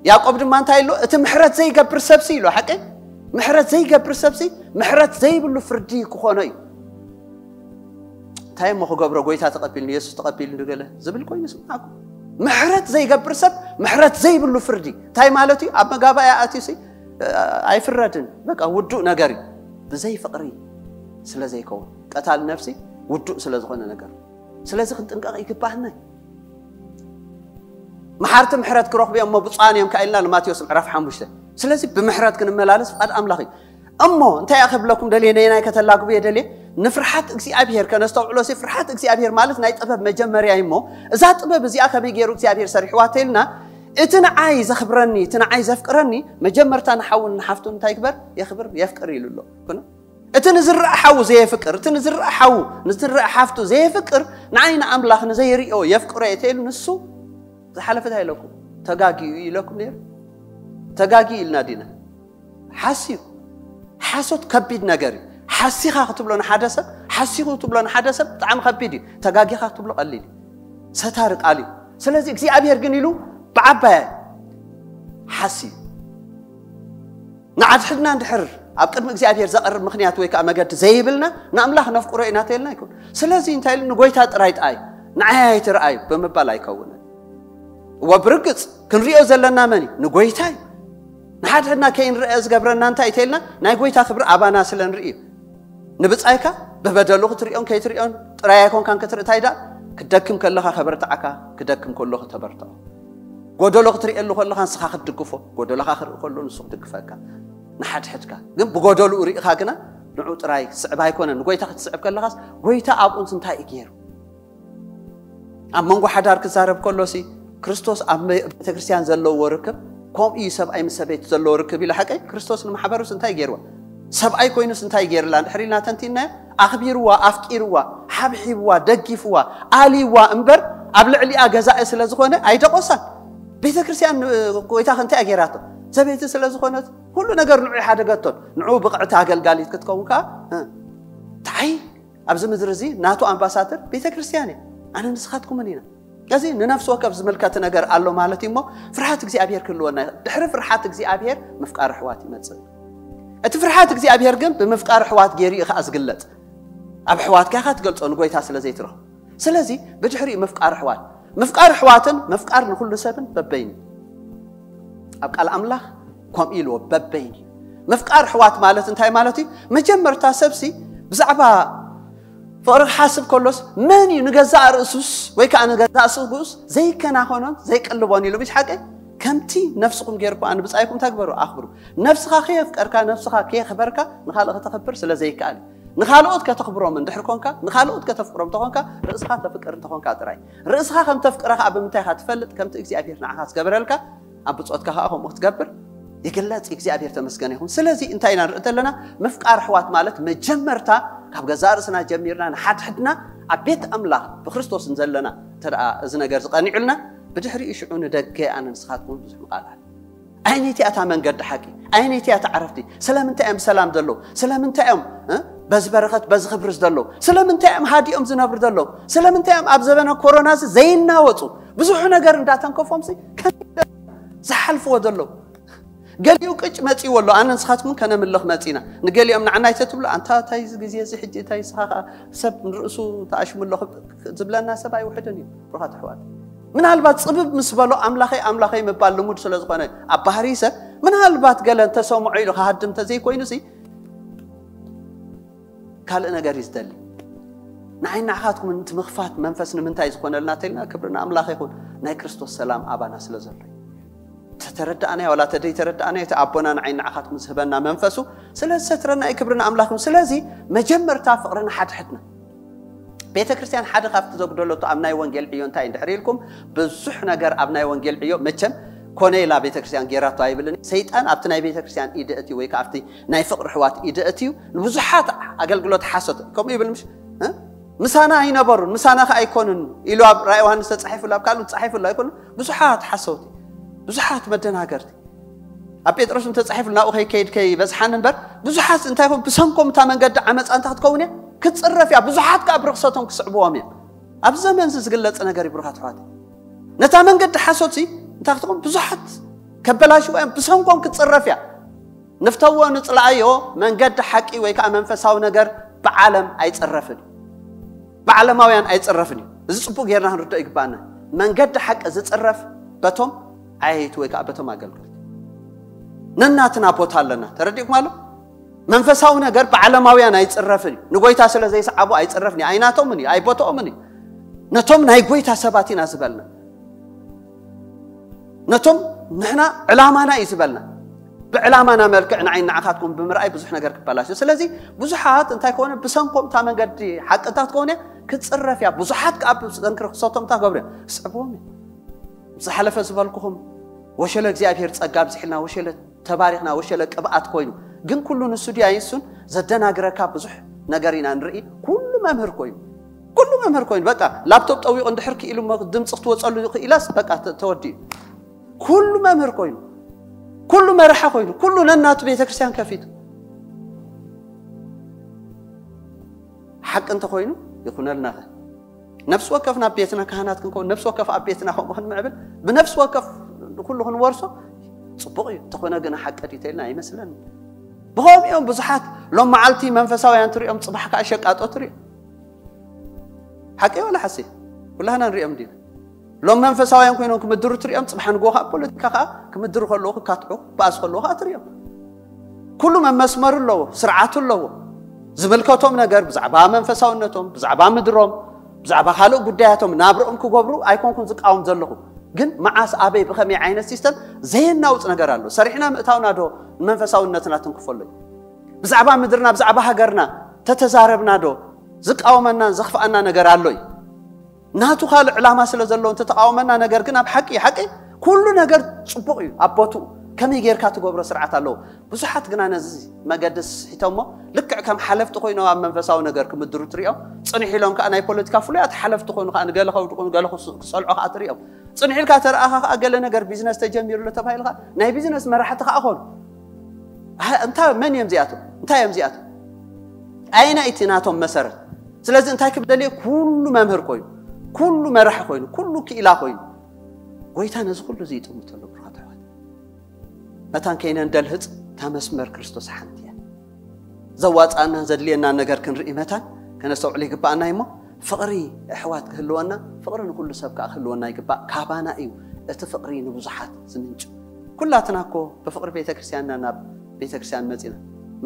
ያዕቆብ ድማ እንታይ ኣሎ? እቲ ምሕረት ዘይገብር ሰብሲ ኢሉ፣ ሓቂ? ምሕረት ዘይገብር ሰብሲ ምሕረት ዘይብሉ ፍርዲ ክኾኖ እዩ። እንታይ እሞ ክገብሮ? ጎይታ ተቐቢልኒ፣ የሱስ ተቐቢልኒ ገለ ዝብል ኮይኑ ስምዓኩም። ምሕረት ዘይገብር ሰብ ምሕረት ዘይብሉ ፍርዲ እንታይ ማለት እዩ? ኣብ መጋባእያ ኣትዩሲ ኣይፍረድን። በቃ ውዱእ ነገር እዩ። ብዘይ ፍቕሪ ስለ ዘይከውን፣ ቀታል ነፍሲ ውዱእ ስለ ዝኾነ ነገር። ስለዚ ክንጥንቀቕ ይግባህና። መሓርቲ ምሕረት ክረኽቡ እዮም እሞ ብፁዓን እዮም ከኣ ኢልና ንማቴዎስ ምዕራፍ ሓሙሽተ። ስለዚ ብምሕረት ክንመላለስ ፍቓድ ኣምላኽ እዩ። እሞ እንታይ እያ ክብለኩም ደልየ፣ ነየናይ ከተላግቡ እየ ደልየ? ንፍርሓት እግዚኣብሔር ከነስተውዕሎ ሲ፣ ፍርሓት እግዚኣብሔር ማለት ናይ ጥበብ መጀመርያ እዩ። እሞ እዛ ጥበብ እዚኣ ከመይ ገይሩ እግዚኣብሔር ሰሪሕዋ ተልና፣ እቲ ንዓይ ዘኽብረኒ፣ እቲ ንዓይ ዘፍቅረኒ መጀመርታ ንሓውን ንሓፍቱን እንታይ ይግበር? የኽብር፣ የፍቅር ኢሉ ኣሎ። ኩነ እቲ ንዝረአ ሓዉ ዘየፍቅር፣ እቲ ንዝረአ ሓዉ፣ ንዝረአ ሓፍቱ ዘየፍቅር፣ ንዓይ ንኣምላኽ ንዘይርእዮ የፍቅሮ እየ ተይሉ ንሱ ዝሓለፈ እንታይ ኢለኩም? ተጋጊዩ ኢለኩም ነይሩ። ተጋጊዩ ኢልና ዲና? ሓስዩ። ሓሶት ከቢድ ነገር እዩ። ሓሲኻ ክትብሎ ንሓደ ሰብ፣ ሓሲኹ ክትብሎ ንሓደ ሰብ ብጣዕሚ ከቢድ እዩ። ተጋጊኻ ክትብሎ ቀሊል እዩ። ሰታሪ ቃል እዩ። ስለዚ እግዚኣብሔር ግን ኢሉ ብዓባያ ሓስዩ። ንዓድሕድና እንድሕር ኣብ ቅድሚ እግዚኣብሔር ዘቐርብ ምኽንያት ወይ ከዓ መገዲ ዘይብልና ንኣምላኽ ነፍቅሮ ኢና ተይልና ኣይኮን። ስለዚ እንታይ ኢሉ ንጎይታ ጥራይ ጥኣይ ንዓይ ኣይትርኣዩ ብምባል ኣይከውንን። እወ ብርግጽ ክንሪኦ ዘለና መን እዩ? ንጎይታ እዩ። ንሓድሕድና ከይንርአ ዝገብረና እንታይ እዩ ተይልና ናይ ጎይታ ክብሪ ኣባና ስለ ንርኢ እዩ። ንብጻይካ ብበደሉ ክትሪኦን ከይትሪኦን ጥራይ ኣይኮንካን ክትርኢ እንታይ ደኣ ክደክም ከለኻ ከበርትዓካ ክደክም ከሎ ከተበርትዖ ጎደሎ ክትሪኤሉ ከለኻ ንስኻ ክትድግፎ ጎደሎኻ ክርኢ ከሎ ንሱ ክድግፈካ ንሓድሕድካ ግን ብጎደልኡ ርኢኻ ግና ንዑ ጥራይ ክትስዕብ ኣይኮነን ንጎይታ ክትስዕብ ከለኻስ ጎይታ ኣብኡንስ እንታይ እዩ ገይሩ ኣብ መንጎ ሓዳር ክዛረብ ከሎሲ ክርስቶስ ኣብ ቤተክርስትያን ዘለዎ ርክብ ከምኡ እዩ ሰብኣይ ምስ ሰበይቲ ዘለዎ ርክብ ኢለ ሓቀይ ክርስቶስ ንማሕበሩስ እንታይ ገይርዋ ሰብኣይ ኮይኑስ እንታይ ገይርላ እንድሕር ኢልና ተንቲናዮ ኣኽቢርዋ ኣፍቂርዋ ሓብሒብዋ ደጊፍዋ ኣልይዋ እምበር ኣብ ልዕሊኣ ገዛኢ ስለ ዝኾነ ኣይደቆሳን ቤተክርስትያን ጎይታ ከንታይ ገይራቶ ሰበይቲ ስለ ዝኾነት ኩሉ ነገር ንዑ ይሓደገቶን ንዑ ብቕዕቲ ኣገልጋሊት ክትከውን ከዓ እንታይ ኣብዚ ምድሪ እዚ ናቱ ኣምባሳደር ቤተክርስትያን እየ ኣነ ንስኻትኩምን ኢና እዚ ንነፍሲ ወከፍ ዝምልከት ነገር ኣሎ ማለት እዩ እሞ ፍርሃት እግዚኣብሔር ክህልወና ድሕሪ ፍርሃት እግዚኣብሔር ምፍቃር ኣሕዋት ይመፅእ እቲ ፍርሃት እግዚኣብሔር ግን ብምፍቃር ኣሕዋት ገይሩ እዩ ከዓ ዝግለፅ ኣብ ኣሕዋትካ ኢኻ ትገልፆ ንጎይታ ስለ ዘይትረኽቦ ስለዚ ብድሕሪኡ ምፍቃር ኣሕዋት ምፍቃር ኣሕዋትን ምፍቃር ንኩሉ ሰብን በበይኑ ኣብ ቃል ኣምላኽ ከምኡ ኢልዎ በበይኑ ምፍቃር ኣሕዋት ማለት እንታይ ማለት እዩ መጀመርታ ሰብሲ ብዛዕባ ፍቕሪ ክሓስብ ከሎስ መን እዩ ንገዛእ ርእሱስ ወይ ከዓ ንገዛእ ስጉስ ዘይከናኸኖን ዘይቅልቦን ኢሉ ብሽ ሓቂ ከምቲ ነፍስኹም ገይርኩ ኣነ ብፃይኩም ተግበሩ ኣኽብሩ ነፍስኻ ከየፍቀርካ ነፍስኻ ከየኽበርካ ንኻልእ ከተኽብር ስለ ዘይከኣል እዩ ንኻልኦት ከተኽብሮም እንድሕር ኮንካ ንኻልኦት ከተፍቅሮም ተኾንካ ርእስኻ ተፍቅር እንተኾንካ ጥራይ ርእስኻ ከም ተፍቅረ ከዓ ብምንታይ ኢኻ ትፈልጥ ከምቲ እግዚኣብሔር ንዓኻ ዝገበረልካ ኣብ ብፆትካ ከዓ ከምኡ ክትገብር ይግለፅ እግዚኣብሔር ተመስገን ይኹን ስለዚ እንታይ ኢና ንርኢ ዘለና ምፍቃር ኣሕዋት ማለት መጀመርታ ካብ ገዛእ ርእስና ጀሚርና ንሓድሕድና ኣብ ቤት ኣምላኽ ብክርስቶስ ዘለና እንተ እዚ ነገር ዝቐኒዑልና ብድሕሪኡ ሽዑ ንደገ ኣነ ንስኻትኩም ብዙሕ ምቓል ኣለ ኣይነይቲ እያ እታ መንገዲ ሓቂ ኣይነይቲ እያ እታ ዕረፍቲ ስለምንታይ እዮም ብሰላም ዘለዉ ስለምንታይ እዮም በዚ በረኸት በዚ ክብሪ ዘለዉ ስለምንታይ እዮም ሃዲኦም ዝነብሩ ዘለዉ ስለምንታይ እዮም ኣብ ዘበነ ኮሮና እዚ ዘይናወፁ ብዙሕ ነገር እንዳተንከፎም ዝሓልፍዎ ዘለዉ ገሊኡ ቅጭ መፂዎ ኣሎ ኣነ ንስኻትኩም ከነምልኽ መፂና ንገሊኦም ንዓናይ ተትብሉ ኣንታ እንታይ እዚ ግዜ እዚ ሕጂ እንታይ ስኻ ሰብ ንርእሱ ተኣሽሙ ኣሎ ዝብለና ሰብ ኣይውሕድን እዩ ብሩኻት ኣሕዋት ምናልባት ፅብብ ምስ በሎ ኣምላኸይ ኣምላኸይ ምባል ልሙድ ስለ ዝኾነ ኣብ ባህሪ ሰብ ምናልባት ገለ እንተሰምዖ ኢሉ ክሃድም እንተዘይኮይኑ ሲ ካልእ ነገር እዩ ዝደሊ ንዓይ ንዓኻትኩም እቲ ምኽፋት መንፈስ ንምንታይ ዝኾነልና ተልና ክብሪ ንኣምላኽ ይኹን ናይ ክርስቶስ ሰላም ኣባና ስለ ዘሎ ተተረዳእናዮ ዋላ ተደይ ተረዳእናዮ እቲ ኣቦና ንዓይ ንዓኻትኩም ዝህበና መንፈሱ ስለ ዝሰትረና እዩ ክብሪ ንኣምላኽ ይኹን ስለዚ መጀመርታ ፍቕሪ ንሓድሕድና ቤተ ክርስቲያን ሓደ ካብቲ ዘጉደለቶ ኣብ ናይ ወንጌል ዕዮ እንታይ እንድሕር ኢልኩም ብዙሕ ነገር ኣብ ናይ ወንጌል ዕዮ መቸም ኮነ ኢላ ቤተ ክርስቲያን ጌራቶ ኣይብልን ሰይጣን ኣብቲ ናይ ቤተ ክርስቲያን ኢደ እቲ ወይ ኣብቲ ናይ ፍቕሪ ሕዋት ኢደ እቲ እዩ ንብዙሓት ኣገልግሎት ሓሶት ከምኡ ይብል ምሽ ምሳና ኣይነበሩን ምሳና ከ ኣይኮኑን ኢሉ ኣብ ራእይ ዮሃንስ ተጻሒፉ ኣብ ካልእ ተጻሒፉ ኣይኮኑ ብዙሓት ሓሰውቲ ብዙሓት መደናገርቲ ኣብ ጴጥሮስ እንተጻሒፉ ናብኡ ከይከይድ ከይበዝሓን እምበር ብዙሓት እንታይ ኮን ብሰንኮም እታ መንገዲ ዓመፃ እንተ ክትከውን እያ ክትፅረፍ እያ ብዙሓት ከዓ ብርክሰቶም ክስዕብዎም እዮም ኣብ ዘመን እዚ ዝግለፅ ነገር ይብሩኻት ኣሕዋት ነታ መንገዲ ሓሶትሲ እንታይ ክትኾን? ብዙሓት ከበላሽዋ እዮም፣ ብሰንኮም ክትጽረፍ እያ። ንፍተዎ ንጽላኣዮ፣ መንገዲ ሓቂ ወይ ከዓ መንፈሳዊ ነገር ብዓለም ኣይጽረፍን እዩ። ብዓለማውያን ኣይጽረፍን እዩ። እዚ ጽቡቕ ጌርና ክንርድኦ ይግባኣና። መንገዲ ሓቂ ዝጽረፍ በቶም ዓየይቲ ወይ ከዓ በቶም ኣገልገልቲ። ነናትና ቦታ ኣለና። ተረዲእኩም ኣሎ? መንፈሳዊ ነገር ብዓለማውያን ኣይጽረፍን እዩ። ንጎይታ ስለ ዘይሰዓቡ ኣይጽረፍን እዩ። ኣይናቶምን እዩ፣ ኣይቦትኦምን እዩ። ነቶም ናይ ጎይታ ሰባት ኢና ዝበልና። ነቶም ንሕና ዕላማና እዩ ዝበልና። ብዕላማና መልክዕ ንዓይ ንዓኻትኩም ብምርኣይ ብዙሕ ነገር ክበላሽ እዩ። ስለዚ ብዙሓት እንታይ ከሆነ ብሰንኮም እታ መንገዲ ሓቅታት ከሆነ ክትጽረፍ እያ። ብዙሓት ከዓ ብሰንኪ ርክሰቶም እንታይ ገብሩ እዮም? ስዕብዎም እዮም። ዝሓለፈ ዝበልኩኹም ወሸለ እግዚኣብሔር ጸጋ ኣብዚሕልና፣ ወሸለ ተባሪኽና፣ ወሸለ ቅብኣት ኮይኑ። ግን ኩሉ ንሱ ድያ ይሱን ዘደናግረካ ብዙሕ ነገር ኢና ንርኢ። ኩሉ መምህር ኮይኑ፣ ኩሉ መምህር ኮይኑ፣ በቃ ላፕቶፕ ጠዊቑ እንድሕር ክኢሉ እሞ ድምፂ ክትወፀሉ ክኢላስ በቃ ተ-፣ ተወዲኡ። ኩሉ መምህር ኮይኑ፣ ኩሉ መራሒ ኮይኑ፣ ኩሉ ነናቱ ቤተክርስትያን ከፊቱ ሓቂ እንተኮይኑ ይኹነልናኸ? ነፍሲ ወከፍ ናብ ቤትና ካህናት ክንከውን፣ ነፍሲ ወከፍ ኣብ ቤትና ከምኡ ክንምዕብል፣ ብነፍሲ ወከፍ ኩሉ ክንወርሶ ጽቡቕ እዩ። እንተኾነ ግን ሓቂ ድዩ ተልና ኣይመስለኒ። ብኸምኡ እዮም ብዙሓት ሎም መዓልቲ መንፈሳውያን ትሪኦም፣ ጽባሕ ከዓ ሸቃጦ ትሪኦም። ሓቂ ወላ ሓሲ? ኩላህና ንሪኦም ዲና? ሎም መንፈሳውያን ኮይኖም ክምድሩ ትሪኦም፣ ጽባሕ ንግሆ ከዓ ፖለቲካ ከዓ ክምድሩ ከለዉ ክካትዑ፣ ክበኣሱ ከለዉ ከዓ ትሪኦም። ኩሉ መመስመሩ ኣለዎ፣ ስርዓቱ ኣለዎ። ዝምልከቶም ነገር ብዛዕባ መንፈሳውነቶም፣ ብዛዕባ ምድሮም፣ ብዛዕባ ካልእ ጉዳያቶም፣ ናብርኦም ክገብሩ ኣይኮንኩን ዝቃወም ዘለኹ። ግን መዓስ፣ ኣበይ፣ ብኸመይ ዓይነት ሲስተም ዘየናውጽ ነገር ኣሎ? ሰሪሕና ምእታውና ዶ ንመንፈሳውነትና ትንክፈሉ? ብዛዕባ ምድርና፣ ብዛዕባ ሃገርና ተተዛረብና ዶ ዝቃወመናን ዘኽፍኣና ነገር ኣሎ እዩ? ናቱ ካልእ ዕላማ ስለ ዘለዎ እንተተቃወመና፣ ነገር ግን ኣብ ሓቂ፣ ሓቂ ኩሉ ነገር ጽቡቕ እዩ ኣብ ቦትኡ። ከመይ ጌርካ ትገብሮ ስርዓት ኣለዎ። ብዙሓት ግና ነዚ መገዲ ስሒቶሞ፣ ልክዕ ከም ሓለፍቲ ኮይኖም ኣብ መንፈሳዊ ነገር ክምድሩ ትሪኦም። ጽንሕ ኢሎም ከኣ ናይ ፖለቲካ ፍሉያት ሓለፍቲ ኮይኑ ከኣ ንገለ ከውድቑ፣ ንገለ ክስ-፣ ክጸልዑ ከኣ ትሪኦም። ጽንሕ ኢልካ ተረኣኻ ከኣ ገለ ነገር ቢዝነስ ተጀሚሩ ኣሎ ተባሂሉ ከኣ ናይ ቢዝነስ መራሕቲ ከኣ ኾኑ። ኣህ፣ እንታ-፣ መን እዮም እዚኣቶም? እንታይ እዮም እዚኣቶም? ኣየናይ እቲ ናቶም መሰረት? ስለዚ እንታይ ክብል ደልየ? ኩሉ መምህር ኮይኑ፣ ኩሉ መራሒ ኮይኑ፣ ኩሉ ክኢላ ኮይኑ፣ ጎይታ ነዚ ኩሉ እዚ ይጥምቶ ኣሎ፣ ብሩኻት ኣሕዋት። መታን ከይነንደልህጽ፣ እታ መስመር ክርስቶስ ሓንቲ እያ። ዘዋጽኣና ዘድልየና ነገር ክንርኢ መታን ከነስተውዕል ይግባኣና እሞ፣ ፍቕሪ ኣሕዋት ክህልወና፣ ፍቕሪ ንኩሉ ሰብ ከኣ ክህልወና ይግባእ። ካባና እዩ እቲ ፍቕሪ ንብዙሓት ዝምንጭ። ኩላትና እኮ ብፍቕሪ ቤተክርስትያንና ናብ ቤተክርስትያን መጺና።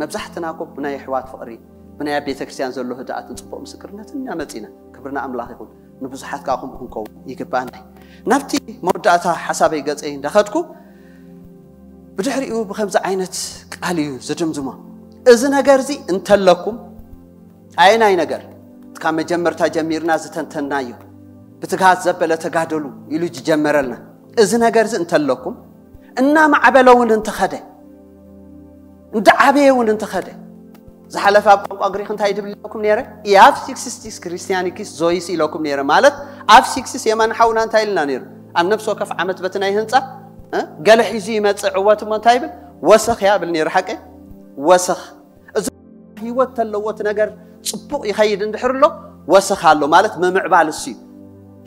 መብዛሕትና እኮ ብናይ ኣሕዋት ፍቕሪ፣ ብናይ ኣብ ቤተክርስትያን ዘሎ ህድኣትን ጽቡቕ ምስክርነትን ኢና መጺና። ክብሪ ንኣምላኽ ይኹን። ንብዙሓት ከኣ ከምኡ ክንከውን ይግባኣና እዩ። ናብቲ መወዳእታ ሓሳበይ ገጸይ እንዳኸድኩ፣ ብድሕሪኡ ብኸምዚ ዓይነት ቃል እዩ ዝድምድሞ። እዚ ነገር እዚ እንተለኩም፣ ኣየናይ ነገር? ካብ መጀመርታ ጀሚርና ዝተንተናዮ፣ ብትግሃት ዘበለ ተጋደሉ ኢሉ ዝጀመረልና። እዚ ነገር እዚ እንተለኩም፣ እናማዕበለ እውን እንተኸደ፣ እንዳዓበየ እውን እንተኸደ፣ ዝሓለፈ ኣብ ቋንቋ ግሪክ እንታይ ድብል ኢለኩም ነይረ? ኢኣፍ ሲክስቲስ ክርስቲያኒኪስ ዞይስ ኢለኩም ነይረ። ማለት ኣብ ሲክስስ የማን ሓውና እንታይ ኢልና ነይሩ? ኣብ ነፍሲ ወከፍ ዓመት በቲ ናይ ህንጻ፣ እ፣ ገለ ሒዙ ይመጽእ ዕወት እሞ እንታይ ይብል? ወሰኽ እያ ብል ነይሩ። ሓቀይ? ወሰኽ። እዚ ህይወት ተለዎ እቲ ነገር ጽቡቕ ይኸይድ እንድሕር ኣሎ፣ ወሰኽ ኣሎ ማለት ምምዕባል እሱ እዩ።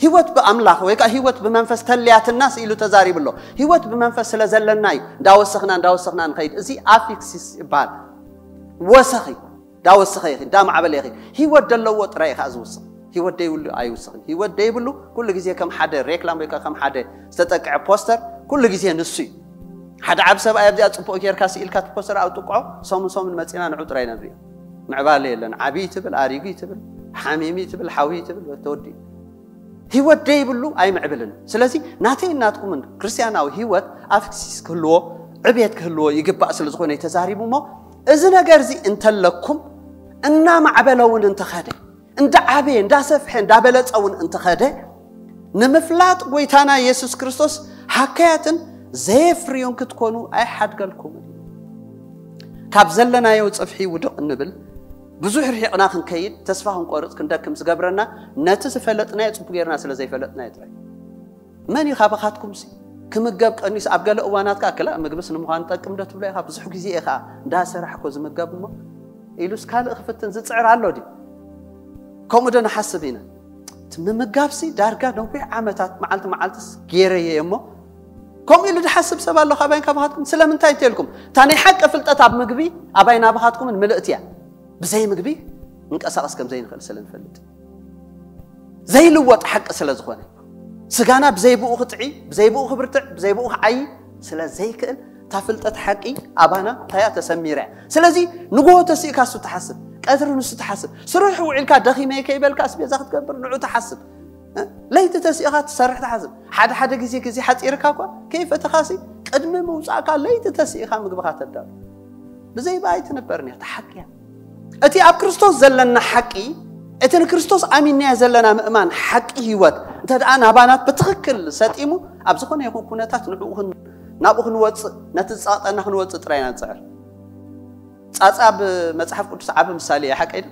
ህይወት ብኣምላኽ ወይ ከዓ ህይወት ብመንፈስ ተልያትናስ ኢሉ ተዛሪቡ ኣሎ። ህይወት ብመንፈስ ስለ ዘለና እዩ እንዳወሰኽና፣ እንዳወሰኽና ንኸይድ። እዚ ኣፊክሲስ ይበሃል። ወሰኽ እዩ። እንዳወሰኸ ይኸይድ፣ እንዳማዕበለ ይኸይድ። ህይወት ዘለዎ ጥራይ እዩ ከዓ ዝውስኽ። ህይወት ደይብሉ ኣይውስኽን። ህይወት ደይብሉ ኩሉ ግዜ ከም ሓደ ሬክላም ወይ ከዓ ከም ሓደ ዝተጠቅዐ ፖስተር ኩሉ ግዜ ንሱ እዩ። ሓደ ዓቢ ሰብኣይ ኣብዚኣ ጽቡቕ ጌርካ ስኢልካ እቲ ፖስተር ኣብ ጥቅዖ፣ ሰሙን ሰሙን መጺና ንዑ ጥራይ ኢና ንሪኦ። ምዕባለ የለን። ዓብዪ ትብል፣ ኣሪጉ ትብል፣ ሓሚሚ ትብል፣ ሓዊ ትብል፣ ተወዲኡ። ህይወት ደይብሉ ኣይምዕብልን። ስለዚ ናተይን ናትኩምን ክርስትያናዊ ህይወት ኣፍክሲስ ክህልዎ፣ ዕብየት ክህልዎ ይግባእ ስለ ዝኾነ እዩ ተዛሪቡ እሞ፣ እዚ ነገር እዚ እንተለኩም እናማዕበለ እውን እንተኸደ፣ እንዳዓበየ፣ እንዳሰፍሐ፣ እንዳበለጸ እውን እንተኸደ፣ ንምፍላጥ ጎይታና የሱስ ክርስቶስ ሃከያትን ዘየፍርዩን ክትኮኑ ኣይሓድገልኩምን። ካብ ዘለናዮ ጽፍሒ ውድቕ እንብል፣ ብዙሕ ርሒቕና ክንከይድ፣ ተስፋ ክንቆርጽ፣ ክንደክም ዝገብረና፣ ነቲ ዝፈለጥናዮ ጽቡቕ ጌርና ስለ ዘይፈለጥናዮ ጥራይ። መን እዩ ካባኻትኩምሲ ክምገብ ቀኒሱ? ኣብ ገለ እዋናት ከኣ፣ ክላእ ምግብስ ንምዃን ጠቅም ዶ ትብሎ ኢኻ? ብዙሕ ግዜ እየ ከኣ እንዳሰራሕኩ ዝምገብ እሞ ኢሉስ ካልእ ክፍትን ዝጽዕር ኣሎ ድዩ? ከምኡ ዶ ንሓስብ ኢና? እቲ ምምጋብሲ ዳርጋ ነዊሕ ዓመታት መዓልቲ መዓልትስ ገይረየ እሞ፣ ከምኡ ኢሉ ዝሓስብ ሰብ ኣሎ ካባይን ካባኻትኩም? ስለምንታይ እንተልኩም፣ እታ ናይ ሓቂ ፍልጠት ኣብ ምግቢ ኣባይ ናባኻትኩምን ምልእቲ እያ። ብዘይ ምግቢ ንንቀሳቐስ ከም ዘይንኽእል ስለ ንፈልጥ፣ ዘይልወጥ ሓቂ ስለ ዝኾነ፣ ስጋና ብዘይ ብኡ ክጥዒ፣ ብዘይ ብኡ ክብርትዕ፣ ብዘይ ብኡ ክዓይ ስለ ዘይክእል፣ እታ ፍልጠት ሓቂ ኣባና እንታይ እያ? ተሰሚራ እያ። ስለዚ ንግሆ ተሲእካ እሱ ትሓስብ፣ ቀትሪ ንሱ ትሓስብ፣ ስሩሕ ውዒልካ ደኺመ ከይበልካ ኣስቤዛ ክትገብር ንዑ ትሓስብ። እ? ለይቲ ተሲእኻ ትሰርሕ ትሓስብ። ሓደ ሓደ ግዜ ግዜ ሓጺርካ እኳ ከይፈተኻሲ ቅድሚ ምውጻእካ ለይቲ ተሲእኻ ምግብኻ ተዳሉ። ብዘይ ብኣይ ትነበር እያ፣ እታ ሓቂ እያ። እቲ ኣብ ክርስቶስ ዘለና ሓቂ፣ እቲ ንክርስቶስ ኣሚንናዮ ዘለና ምእማን ሓቂ ህይወት እንተ ደኣ ናባና ብትኽክል ሰጢሙ፣ ኣብ ዝኾነ ይኹን ኩነታት ንዕኡ ክን-፣ ናብኡ ክንወጽእ፣ ነቲ ዝጸቕጠና ክንወጽእ ጥራይ ኢና ንጽዕር። ጻጻ ኣብ መጽሓፍ ቅዱስ ዓቢ ምሳሌ እያ፣ ሓቀይ ዶ?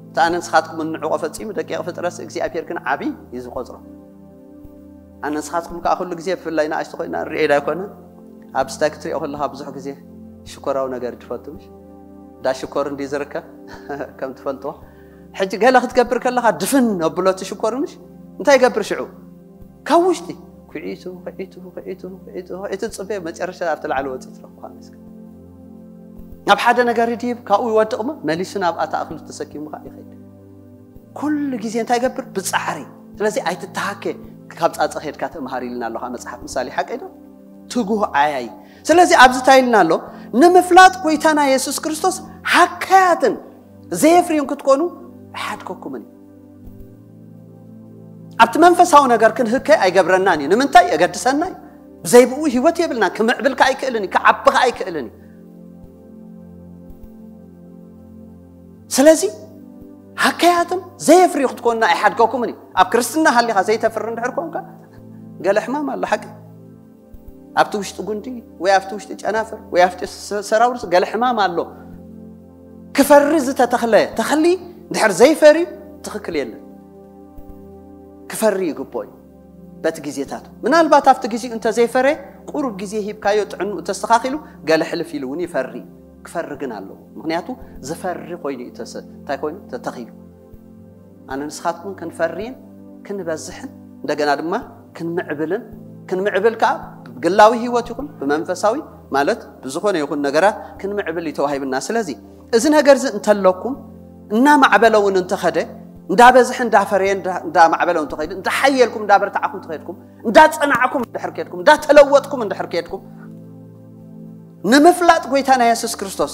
እታ ኣነ ንስኻትኩም እንዕቆ ፈጺሙ፣ ደቂቕ ፍጥረት እግዚኣብሔር ግን ዓቢ እዩ ዝቆጽሮ። ኣነ ንስኻትኩም ከኣ ኩሉ ግዜ ብፍላይ ንኣሽቱ ኮይና ንሪኦ ዳ ኣይኮነ? ኣብ ስታይ ክትሪኦ ከለኻ ብዙሕ ግዜ ሽኮራዊ ነገር ትፈቱ ምሽ? ዳ ሽኮር እንዲ ዝርከብ ከም ትፈልጥዎ። ሕጂ ገለ ክትገብር ከለኻ ድፍን ኣብሎ እቲ ሽኮር ምሽ? እንታይ ይገብር ሽዑ? ካብ ውሽጢ ኩዒቱ፣ ኩዒቱ፣ ኩዒቱ፣ ኩዒቱ፣ ኩዒቱ፣ ጽበዮ መጨረሻ ኣብቲ ላዕሊ ወጺኡ ትረኽቦ። ካብ ሓደ ነገር ይድይብ፣ ካብኡ ይወድቕ እሞ መሊሱ ናብ ኣታ እኽሊ ተሰኪሙ ከኣ ይኸይድ። ኩሉ ግዜ እንታይ ይገብር? ብጻዕሪ። ስለዚ ኣይትተሃከ፣ ካብ ጻጸ ኸድካ ተምሃር ኢልና ኣሎ መጽሓፍ ምሳሌ፣ ሓቀይ ዶ? ትጉህ ዓያይ። ስለዚ ኣብዚ እንታይ ኢልና ኣሎ? ንምፍላጥ ጎይታና የሱስ ክርስቶስ ሃካያትን ዘየፍርዩን ክትኮኑ ኣይሓድገኩምን እዩ። ኣብቲ መንፈሳዊ ነገር ክንህከ ኣይገብረናን እዩ። ንምንታይ? የገድሰና እዩ። ብዘይ ብኡ ህይወት የብልናን። ክምዕብል ከኣ ኣይክእልን እዩ። ክዓቢ ከኣ ኣይክእልን እዩ። ስለዚ ሃከያትን ዘየፍርዩ ክትኮንና ኣይሓድገኩምን እዩ። ኣብ ክርስትና ሃሊኻ ዘይተፍሪ እንድሕር ኮንካ፣ ገለ ሕማም ኣሎ፣ ሓቂ። ኣብቲ ውሽጢ ጉንዲ ወይ ኣብቲ ውሽጢ ጨናፍር ወይ ኣብቲ ሰ-፣ ሰራውርስ ገለ ሕማም ኣሎ። ክፈሪ ዝተተኽለ ተኽሊ እንድሕር ዘይፈርዩ ትኽክል የለን። ክፈሪ ይግብኦ እዩ። በቲ ግዜታት ምናልባት ኣብቲ ግዜኡ እንተዘይፈረ፣ ቁሩብ ግዜ ሂብካዮ፣ ጥዕንኡ ተስተኻኺሉ፣ ገለ ሕልፍ ኢሉ እውን ይፈሪ። ክፈሪ ግን ኣለዎ። ምኽንያቱ ዝፈሪ ኮይኑ እዩ ተሰ-፣ እንታይ ኮይኑ? ተተኺሉ። ኣነ ንስኻትኩም ክንፈርይን ክንበዝሕን እንደገና ድማ ክንምዕብልን፣ ክንምዕብል ከኣ ብግላዊ ህይወት ይኹን ብመንፈሳዊ፣ ማለት ብዝኾነ ይኹን ነገራት ክንምዕብል እዩ ተዋሂብና። ስለዚ እዚ ነገር እዚ እንተለኩም፣ እናማዕበለ እውን እንተኸደ፣ እንዳበዝሐ እንዳፈረየ እንዳ-፣ እንዳማዕበለ እውን እንተኸይዱ፣ እንዳሓየልኩም እንዳበርታዕኩም እንተኸድኩም፣ እንዳጸናዕኩም እንድሕር ከድኩም፣ እንዳተለወጥኩም እንድሕር ከድኩም፣ ንምፍላጥ ጎይታና የሱስ ክርስቶስ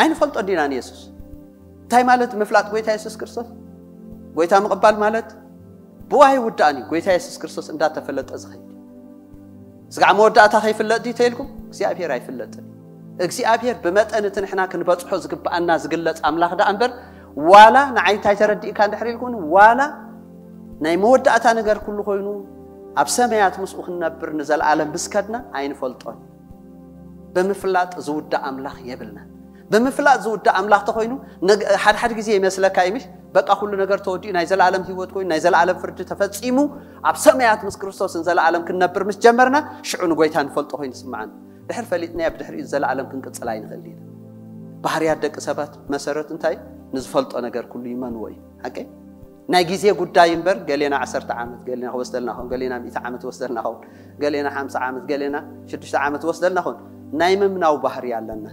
ኣይንፈልጦ ዲና ንየሱስ? እንታይ ማለት ምፍላጥ ጎይታ የሱስ ክርስቶስ? ጎይታ ምቕባል ማለት ብኡ ኣይውዳእን እዩ። ጎይታ የሱስ ክርስቶስ እንዳተፈለጠ ዝኸይድ። ስጋዕ መወዳእታ ከይፍለጥ ድዩ ተይልኩም? እግዚኣብሔር ኣይፍለጥን። እግዚኣብሔር ብመጠን እቲ ንሕና ክንበጽሖ ዝግብኣና ዝግለጽ ኣምላኽ ደኣ እምበር፣ ዋላ ንዓይ እንታይ ተረዲእካ እንድሕር ኢልኩኒ፣ ዋላ ናይ መወዳእታ ነገር ኩሉ ኮይኑ ኣብ ሰማያት ምስኡ ክንነብር ንዘለኣለም ምስ ከድና ኣይንፈልጦን። ብምፍላጥ ዝውዳእ ኣምላኽ የብልናን። ብምፍላጥ ዝውዳእ ኣምላኽ ተኾይኑ፣ ነግ-፣ ሓድሓድ ግዜ ይመስለካ እዩ፣ ምሽ? በቃ ኩሉ ነገር ተወዲኡ፣ ናይ ዘለኣለም ህይወት ኮይኑ፣ ናይ ዘለኣለም ፍርዲ ተፈጺሙ፣ ኣብ ሰማያት ምስ ክርስቶስ ንዘለኣለም ክንነብር ምስ ጀመርና፣ ሽዑ ንጎይታ ንፈልጦ ኮይኑ ይስምዓና። ድሕር ፈሊጥናዮ፣ ብድሕሪኡ ዘለኣለም ክንቅጽል ኣይንኽእል ኢና። ባህርያት ደቂ ሰባት መሰረት እንታይ? ንዝፈልጦ ነገር ኩሉ ይመንዎ እዩ። ሓቀይ? ናይ ግዜ ጉዳይ እምበር፣ ገሌና ዓሰርተ ዓመት፣ ገሌና ክወስደልና ኸውን፣ ገሌና ሚእቲ ዓመት ወስደልና ኸውን፣ ገሌና ሓምሳ ዓመት፣ ገሌና ሽዱሽተ ዓመት ወስደልና ኸውን፣ ናይ ምምናው ባህሪ ኣለና።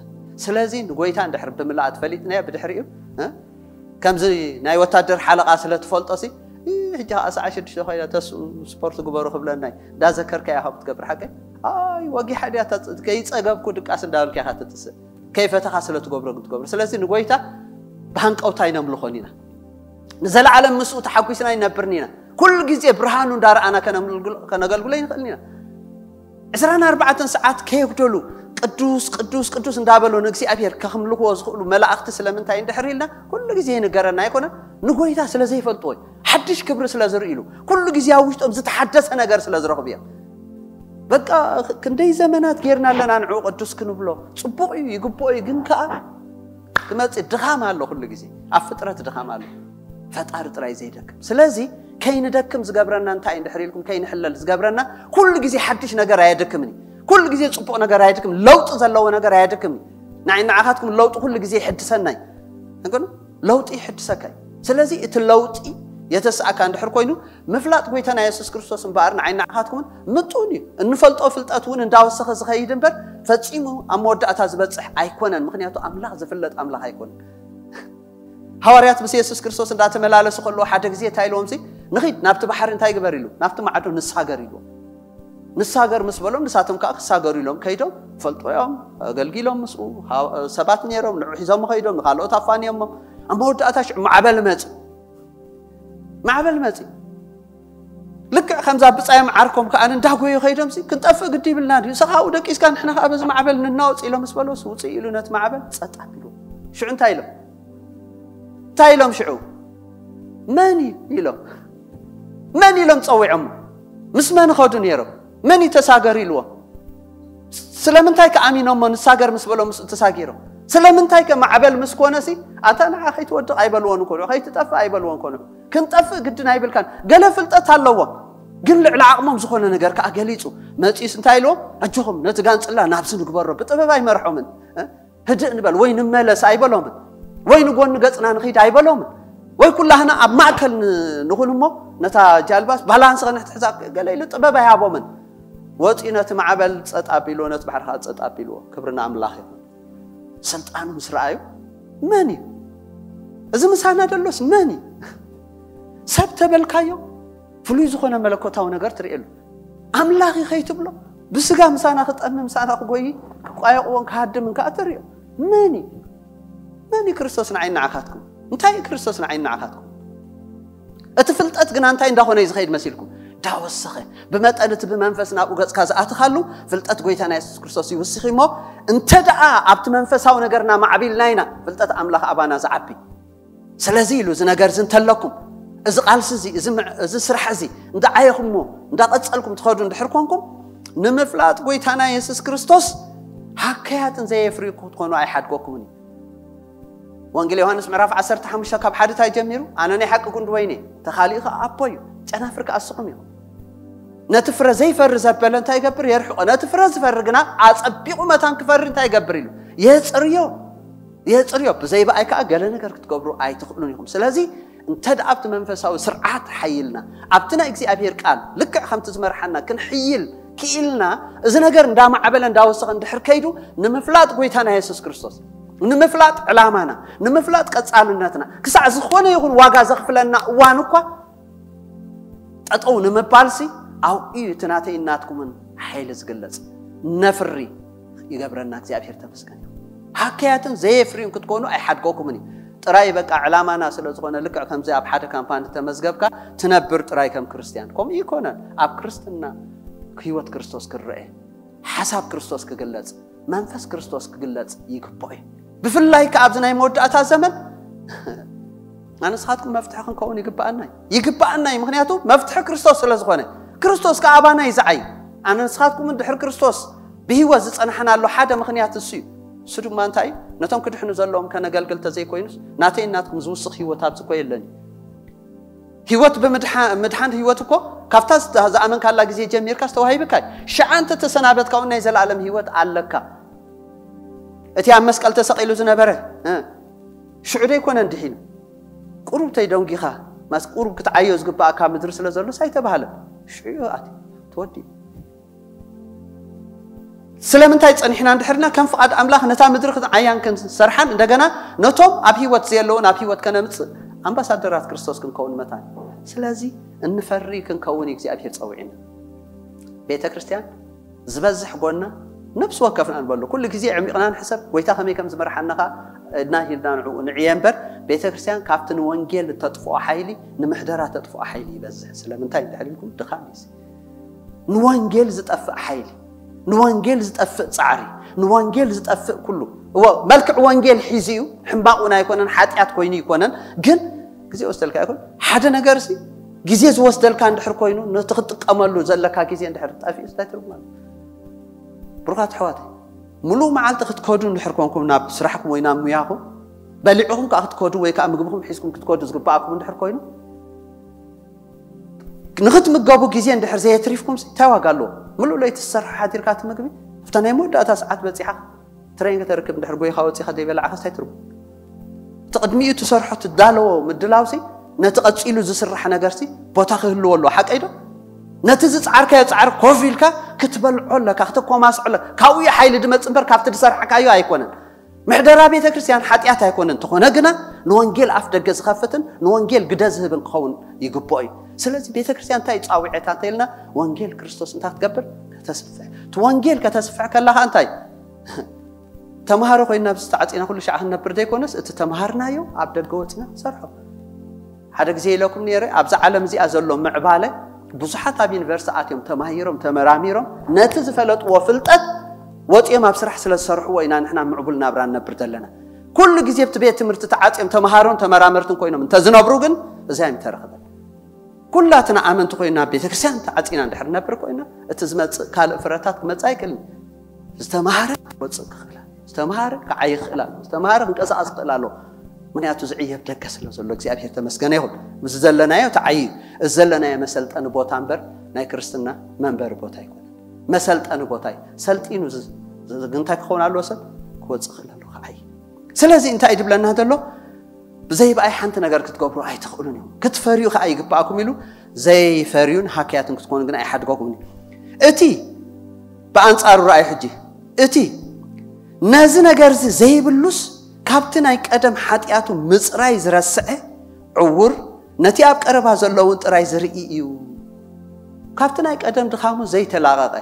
ስለዚ ንጎይታ እንድሕር ብምልኣት ፈሊጥናዮ፣ ብድሕሪኡ፣ እ፣ ከምዚ ናይ ወታደር ሓለቓ ስለ ትፈልጦ ሲ፣ እ፣ ሕጂ ኸዓ ሰዓት ሽዱሽተ ኮይና ተስኡ ስፖርት ግበሩ ክብለና እዩ። እንዳዘከርካያ ካብ ትገብር ሓቀይ፣ ኣይ፣ ወጊሓ ድያ እታ ፅ-፣ ከይጸገብኩ ድቃስ እንዳበልካ ኢኻ ትጥስእ። ከይፈተኻ ስለ ትገብሮ ግን ትገብሮ። ስለዚ ንጎይታ ብሃንቀውታ ኣይነምልኾን ኢና። ንዘለዓለም ምስኡ ተሓጒስና ኣይነብርን ኢና። ኩሉ ግዜ ብርሃኑ እንዳረኣና ከነምልግሎ-፣ ከነገልግሎ ኣይንኽእልን ኢና። ዕስራን ኣርባዕተን ሰዓት ከየጉደሉ ቅዱስ፣ ቅዱስ፣ ቅዱስ እንዳበሉ ንእግዚኣብሔር ከኽምልኽዎ ዝኽእሉ መላእኽቲ ስለምንታይ እንድሕር ኢልና ኩሉ ግዜ ይንገረና ኣይኮነን? ንጎይታ ስለ ዘይፈልጥዎ እዩ። ሓድሽ ክብሪ ስለ ዝርእሉ፣ ኩሉ ግዜ ኣብ ውሽጦም ዝተሓደሰ ነገር ስለ ዝረኽቡ እዮም። በቃ ክንደይ ዘመናት ጌርና ኣለና ንዕኡ ቅዱስ ክንብሎ። ጽቡቕ እዩ፣ ይግብኦ እዩ፣ ግን ከኣ ክመጽእ ድኻም ኣሎ። ኩሉ ግዜ ኣብ ፍጥረት ድኻም ኣሎ፣ ፈጣሪ ጥራይ ዘይደክም። ስለዚ ከይንደክም ዝገብረና እንታይ እንድሕር ኢልኩም፣ ከይንሕለል ዝገብረና፣ ኩሉ ግዜ ሓድሽ ነገር ኣየድክምን እዩ። ኩሉ ግዜ ጽቡቕ ነገር ኣየድክምን፣ ለውጢ ዘለዎ ነገር ኣየድክምን እዩ። ንዓይ ንዓኻትኩም ለውጢ ኩሉ ግዜ ይሕድሰና እዩ። እንግዲህ ለውጢ ይሕድሰካ እዩ። ስለዚ እቲ ለውጢ የተስኣካ እንድሕር ኮይኑ፣ ምፍላጥ ጎይታና የሱስ ክርስቶስ እምበኣር ንዓይ ንዓኻትኩምን ምጡን እዩ። እንፈልጦ ፍልጠት እውን እንዳወሰኸ ዝኸይድ እምበር፣ ፈጺሙ ኣብ መወዳእታ ዝበጽሕ ኣይኮነን። ምኽንያቱ ኣምላኽ ዝፍለጥ ኣምላኽ ኣይኮነን። ሃዋርያት ምስ የሱስ ክርስቶስ እንዳተመላለሱ ከለዉ ሓደ ግዜ እንታይ ኢልዎም ሲ? "ንኺድ ናብቲ ባሕሪ እንታይ ግበር?" ኢሉ፣ "ናብቲ ማዕዶ ንሳገር" ኢልዎም። ንሳገር ምስ በሎም ንሳቶም ከዓ ክሳገሩ ኢሎም ከይዶም፣ ፈልጦ እዮም፣ ኣገልጊሎም ምስኡ፣ ሃ-፣ ሰባት ነይሮም፣ ንዑ ሒዞም ከይዶም፣ ንኻልኦት ኣፋንዮሞ። ኣብ መወዳእታ ሽዑ ማዕበል መጺ። ማዕበል መጺ። ልክዕ ከምዛ ብጻዮም ዓርኮም ከዓ እንዳጎዩ ከይዶም ሲ፣ "ክንጠፍእ ግዲ ይብልና ድዩ? ሰኻኡ ደቂስካ ንሕና ከዓ በዚ ማዕበል ንናወጽ" ኢሎም ምስ በለውስ፣ ውጽእ ኢሉ ነቲ ማዕበል ጸጥ ኣቢሉ። ሽዑ እንታይ ኢሎም? እንታይ ኢሎም ሽዑ? "መን እዩ?" ኢሎም። መን ኢሎም ጸዊዖሞ? ምስ መን ኸዱ ነይሮም? መን እዩ ተሳገር ኢልዎም? ስለምንታይ ከ ኣሚኖሞ ንሳገር ምስ በሎም ምስኡ ተሳጊሮም? ስለምንታይ ከ ማዕበል ምስ ኮነ ሲ፣ "ኣታ ንዓ ከይትወድቕ" ኣይበልዎን እኮ ንዑ፣ "ከይትጠፍእ" ኣይበልዎን እኮ ንዑ። "ክንጠፍእ ግድን ኣይብልካን" ገለ ፍልጠት ኣለዎም። ግን ልዕሊ ዓቕሞም ዝኾነ ነገር ከኣ ገሊጹ መጺኡስ እንታይ ኢልዎም? "ኣጆኹም ነቲ ጋንጽላ ናብዚ ንግበሮ" ብጥበብ ኣይመርሖምን። እ? "ህድእ ንበል ወይ ንመለስ" ኣይበሎምን። "ወይ ንጎኒ ገጽና ንኺድ" ኣይበሎምን። "ወይ ኩላህና ኣብ ማእከል ን-፣ ንኹን እሞ ነታ ጃልባስ ባላንስ ከነትሕዛ" ገለ ኢሉ ጥበብ ኣይሃቦምን። ወጺኡ ነቲ ማዕበል ጸጥ ኣቢልዎ፣ ነቲ ባሕሪ ከኣ ጸጥ ኣቢልዎ። ክብሪ ንኣምላኽ ይኹን። ስልጣኑ ምስ ረኣዩ፣ "መን እዩ? እዚ ምሳና ደሎስ መን እዩ? ሰብ ተበልካዮ፣ ፍሉይ ዝኾነ መለኮታዊ ነገር ትርእየሉ። ኣምላኽ እዩ ከይትብሎ፣ ብስጋ ምሳና ክጠሚ፣ ምሳና ክጎይ፣ ክቋየቕዎን ክሃድምን ከኣ ትርእዮ። መን እዩ? መን እዩ ክርስቶስ ንዓይ ንዓኻትኩም? እንታይ እዩ ክርስቶስ ንዓይ ንዓኻትኩም?" እቲ ፍልጠት ግና እንታይ እንዳኾነ እዩ ዝኸይድ መሲልኩም? እንዳወሰኸ፣ ብመጠን እቲ ብመንፈስ ናብኡ ገጽካ ዝኣትኻሉ፣ ፍልጠት ጎይታና የሱስ ክርስቶስ ይውስኽ እሞ፣ እንተ ደኣ ኣብቲ መንፈሳዊ ነገርና ማዕቢልና ኢና፣ ፍልጠት ኣምላኽ ኣባና ዝዓቢ። ስለዚ ኢሉ፣ "እዚ ነገር እዚ እንተለኩም፣ እዚ ቃልሲ እዚ፣ እዚ ምዕ-፣ እዚ ስራሕ እዚ እንዳዓየኹምዎ፣ እንዳቐጸልኩም ትኸዱ እንድሕር ኮንኩም፣ ንምፍላጥ ጎይታና የሱስ ክርስቶስ ሃከያትን ዘየፍርዩ ክትኮኑ ኣይሓድገኩምን እዩ።" ወንጌል ዮሃንስ ምዕራፍ ዓሰርተ ሓሙሽተ ካብ ሓደ እንታይ ጀሚሩ? "ኣነ ናይ ሓቂ ጉንዲ ወይኒ እየ፣ ተኻሊኡ ኸኣ ኣቦ እዩ፣ ጨናፍር ከኣ ንስኹም ኢኹም።" ነቲ ፍረ ዘይፈሪ ዘበለ እንታይ ይገብር? የርሕቆ። ነቲ ፍረ ዝፈሪ ግና ኣጸቢቑ መታን ክፈሪ እንታይ ይገብር ኢሉ? የጽርዮ። የጽርዮ። "ብዘይ ብኣይ ከኣ ገለ ነገር ክትገብሩ ኣይትኽእሉን ኢኹም።" ስለዚ እንተ ደኣ ኣብቲ መንፈሳዊ ስርዓት ሓይልና፣ ኣብቲ ናይ እግዚኣብሔር ቃል ልክዕ ከምቲ ዝመርሓና ክንሕይል ክኢልና፣ እዚ ነገር እንዳማዕበለ እንዳወሰኸ እንድሕር ከይዱ፣ ንምፍላጥ ጎይታና የሱስ ክርስቶስ፣ ንምፍላጥ ዕላማና፣ ንምፍላጥ ቀጻልነትና፣ ክሳዕ ዝኾነ ይኹን ዋጋ ዘኽፍለና እዋን እኳ ጠጠው ንምባልሲ፣ ኣብኡ እዩ እቲ ናተይን ናትኩምን ሓይሊ ዝግለጽ። ነፍሪ ይገብረና እግዚኣብሔር ተመስገን። ሃከያትን ዘየፍርዩን ክትኮኑ ኣይሓድገኩምን እዩ። ጥራይ በቃ ዕላማና ስለ ዝኾነ፣ ልክዕ ከምዚ ኣብ ሓደ ካምፓኒ ተመዝገብካ ትነብር ጥራይ ከም ክርስትያን። ከምኡ ይኮነን። ኣብ ክርስትና ህይወት ክርስቶስ ክረአ፣ ሓሳብ ክርስቶስ ክግለጽ፣ መንፈስ ክርስቶስ ክግለጽ ይግብኦ እዩ። ብፍላይ ከኣ ኣብዚ ናይ መወዳእታ ዘመን ኣነ ንስኻትኩም መፍትሒ ክንከውን ይግብኣና እዩ። ይግብኣና እዩ። ምኽንያቱ መፍትሒ ክርስቶስ ስለ ዝኾነ፣ ክርስቶስ ከኣ ኣባና እዩ ዝዓይ። ኣነ ንስኻትኩም እንድሕር ክርስቶስ ብህይወት ዝጸናሕናሉ ሓደ ምኽንያት እሱ እዩ። እሱ ድማ እንታይ እዩ? ነቶም ክድሕኑ ዘለዎም ከነገልግል ተዘይኮይኑስ፣ ናተይ ናትኩም ዝውስኽ ህይወት ኣብዚ እኮ የለን እዩ። ህይወት ብምድሓ-፣ ምድሓን ህይወት እኮ ካብታ ዝተ-፣ ዝኣመንካላ ግዜ ጀሚርካ ዝተዋሂብካ እዩ። ሽዓ እንተ ተሰናበትካ እውን ናይ ዘለኣለም ህይወት ኣለካ። እቲ ኣብ መስቀል ተሰቒሉ ዝነበረ፣ እ፣ ሽዑ ዶ ኣይኮነን ድሒኑ? ቁሩብ ተይደንጊኻ፣ ማስ ቁሩብ ክትዓዮ ዝግብኣካ ምድሪ ስለ ዘሎስ ኣይተባህለን። ሽዑ ኣትዩ፣ ተወዲኡ። ስለምንታይ ጸኒሕና እንድሕርና ከም ፍቓድ ኣምላኽ ነታ ምድሪ ክንዓያን ክንሰርሓን እንደገና ነቶም ኣብ ህይወት ዘየለውን ኣብ ህይወት ከነምጽእ ኣምባሳደራት ክርስቶስ ክንከውን መታን። ስለዚ እንፈሪ ክንከውን እዩ እግዚኣብሔር ጸዊዕና። ቤተ ክርስቲያን ዝበዝሕ ጎና ነፍሲ ወከፍና ንበሎ። ኩሉ ግዜ ዕሚቕና ንሕሰብ፣ ጎይታ ከመይ ከም ዝመርሓና ኸኣ እና ሂልና ንዕኡ ንዕየ እምበር፣ ቤተ ክርስቲያን ካብቲ ንወንጌል እተጥፍኦ ሓይሊ ንምሕደራ ተጥፍኦ ሓይሊ ይበዝሕ። ስለምንታይ እንድሕር ኢልኩም፣ ድኻም እዩ። ንወንጌል ዝጠፍእ ሓይሊ፣ ንወንጌል ዝጠፍእ ጻዕሪ፣ ንወንጌል ዝጠፍእ ኩሉ። እዎ፣ መልክዕ ወንጌል ሒዙ እዩ፣ ሕማቕ እውን ኣይኮነን፣ ሓጢኣት ኮይኑ ኣይኮነን። ግን ግዜ ወስደልካ ይኹን ሓደ ነገር ሲ፣ ግዜ ዝወስደልካ እንድሕር ኮይኑ፣ ነቲ ክትጥቀመሉ ዘለካ ግዜ እንድሕር ጠፊኡ፣ እንታይ ትርጉም ኣለዎ? ብሩኻት ኣሕዋተይ፣ ምሉእ መዓልቲ ክትከዱ እንድሕር ኮንኩም ናብ ስራሕኩም ወይ ናብ ሙያኹም፣ በሊዕኹም ከኣ ክትከዱ ወይ ከኣ ምግብኹም ሒዝኩም ክትከዱ ዝግብኣኩም እንድሕር ኮይኑ፣ ንኽትምገቡ ግዜ እንድሕር ዘየትሪፍኩም ሲ፣ እንታይ ዋጋ ኣለዎ? ምሉእ ለይቲ ትሰርሖ ሓዲርካ እቲ ምግቢ፣ ኣብታ ናይ መወዳእታ ሰዓት በጺሓ ትሬን ከተርክብ እንድሕር ጎይኻ ወጺኻ ዘይበላዕኻስ እንታይ ትርጉም? እቲ ቅድሚኡ ትሰርሖ ትዳለዎ ምድላው ሲ፣ ነቲ ቀጺሉ ዝስራሕ ነገርሲ ቦታ ክህልዎ ኣለዎ። ሓቀይ ዶ? ነቲ ዝጻዕርካዮ ጻዕሪ ኮፍ ኢልካ ክትበልዖ ኣለካ፣ ክትኮማስዖ ኣለካ። ካብኡ እዩ ሓይሊ ድመጽእ እምበር ካብቲ ዝሰርሕካዮ ኣይኮነን። ምሕደራ ቤተ ክርስቲያን ሓጢኣት ኣይኮነን። እንተኾነ ግና ንወንጌል ኣፍ ደገ ዝኸፍትን ንወንጌል ግደ ዝህብን ክኸውን ይግብኦ እዩ። ስለዚ ቤተ ክርስቲያን እንታይ እዩ ጻውዒታ እንተኢልና፣ ወንጌል ክርስቶስ እንታይ ክትገብር? ከተስፍሕ። እቲ ወንጌል ከተስፍሕ ከላኻ እንታይ? ተምሃሮ ኮይና ኣብዚ ተዓጺና ኩሉ ሻዕ ክንነብር ዘይኮነስ፣ እቲ ተምሃርናዮ ኣብ ደገ ወጺና ንሰርሖ። ሓደ ግዜ ኢለኩም ነይረ፣ ኣብዛ ዓለም እዚኣ ዘሎ ምዕባለ፣ ብዙሓት ኣብ ዩኒቨርሲቲ ኣትዮም ተማሂሮም ተመራሚሮም ነቲ ዝፈለጥዎ ፍልጠት ወፂኦም ኣብ ስራሕ ስለ ዝሰርሕዎ ኢና ንሕና ምዕቡል ናብራ ንነብር ዘለና። ኩሉ ግዜ ኣብቲ ቤት ትምህርቲ ተዓፅዮም ተምሃሮን ተመራመርትን ኮይኖም እንተዝነብሩ ግን እዚኣ ኣይምተረኸበን። ኩላትና ኣመንቲ ኮይና ኣብ ቤተክርስትያን ተዓፂና እንድሕር ነብር ኮይና፣ እቲ ዝመፅእ ካልእ ፍረታት ክመፅእ ኣይክእልን። ዝተምሃረ ክወፅእ ክኽእል ኣሎ። ዝተምሃረ ክዓይ ክኽእል ኣሎ። ዝተምሃረ ክንቀሳቐስ ክኽእል ኣሎ። ምክንያቱ ዝዕየብ ደገ ስለ ዘሎ እግዚኣብሔር ተመስገነ ይኹን። ምስ ዘለናዮ ተዓይ እዩ። እዚ ዘለናዮ መሰልጠኒ ቦታ እምበር ናይ ክርስትና መንበሪ ቦታ ኣይኮነን። መሰልጠኒ ቦታ እዩ። ሰልጢኑ ዝ- ዝ- እንታይ ክኸውን ኣለዎ? ሰብ ክወፅእ ክኽእል ኣለዎ፣ ክዓይ። ስለዚ እንታይ እዩ ድብለና ዘሎ? ብዘይ ብኣይ ሓንቲ ነገር ክትገብሩ ኣይትኽእሉን እዮም፣ ክትፈርዩ ከዓ ይግባኣኩም ኢሉ ዘይፈርዩን ሃክያትን ክትኮኑ ግን ኣይሓድገኩምን እዩ። እቲ ብኣንጻሩ ረኣዩ ሕጂ፣ እቲ ነዚ ነገር እዚ ዘይብሉስ ካብቲ ናይ ቀደም ሓጢኣቱ ምጽራይ ዝረስዐ ዕውር፣ ነቲ ኣብ ቀረባ ዘለውን ጥራይ ዝርኢ እዩ። ካብቲ ናይ ቀደም ድኻሙ ዘይተላቐቐ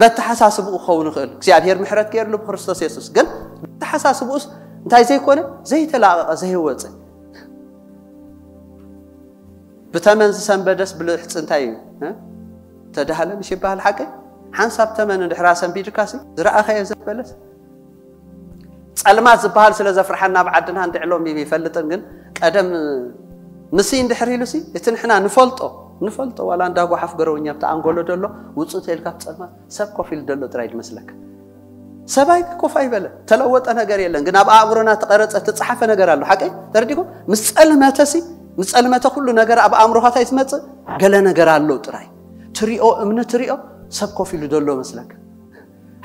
በተሓሳስብኡ ክኸውን ይኽእል። እግዚኣብሔር ምሕረት ገይርሉ ብክርስቶስ የሱስ። ግን በተሓሳስብኡስ እንታይ ዘይኮነ? ዘይተላቐቐ፣ ዘይወፀ። ብተመን ዝሰንበደስ ብልሕፂ እንታይ እዩ? እ? ተዳህለንሽ ይበሃል ሓቂ? ሓንሳብ ተመን እንድሕራ ሰንቢድካሲ ዝረኣኸዮ ዘበለስ? ጸልማት ዝበሃል ስለ ዘፍርሓና ኣብ ዓድና እንድዕሎም ይፈልጥን፣ ግን ቀደም ንሲ እንድሕር ኢሉሲ እቲ ንሕና ንፈልጦ፣ ንፈልጦ ዋላ እንዳ ጓሓፍ ገረውኛ ኣብቲ ኣንጎሎ ደሎ ውፅእ ተልካ ኣብ ጸልማት ሰብ ኮፍ ኢሉ ደሎ ጥራይ ድመስለካ። ሰብኣይ ኮፍ ኣይበለ፣ ተለወጠ ነገር የለን። ግን ኣብ ኣእምሮና ተቐረጸ፣ ተጻሓፈ ነገር ኣሎ። ሓቀይ ተረዲኩም? ምስ ጸልመተሲ፣ ምስ ጸልመተ ኩሉ ነገር ኣብ ኣእምሮኻ እንታይ ትመጽእ? ገለ ነገር ኣሎ ጥራይ። ትሪኦ፣ እምኒ ትሪኦ፣ ሰብ ኮፍ ኢሉ ደሎ መስለካ።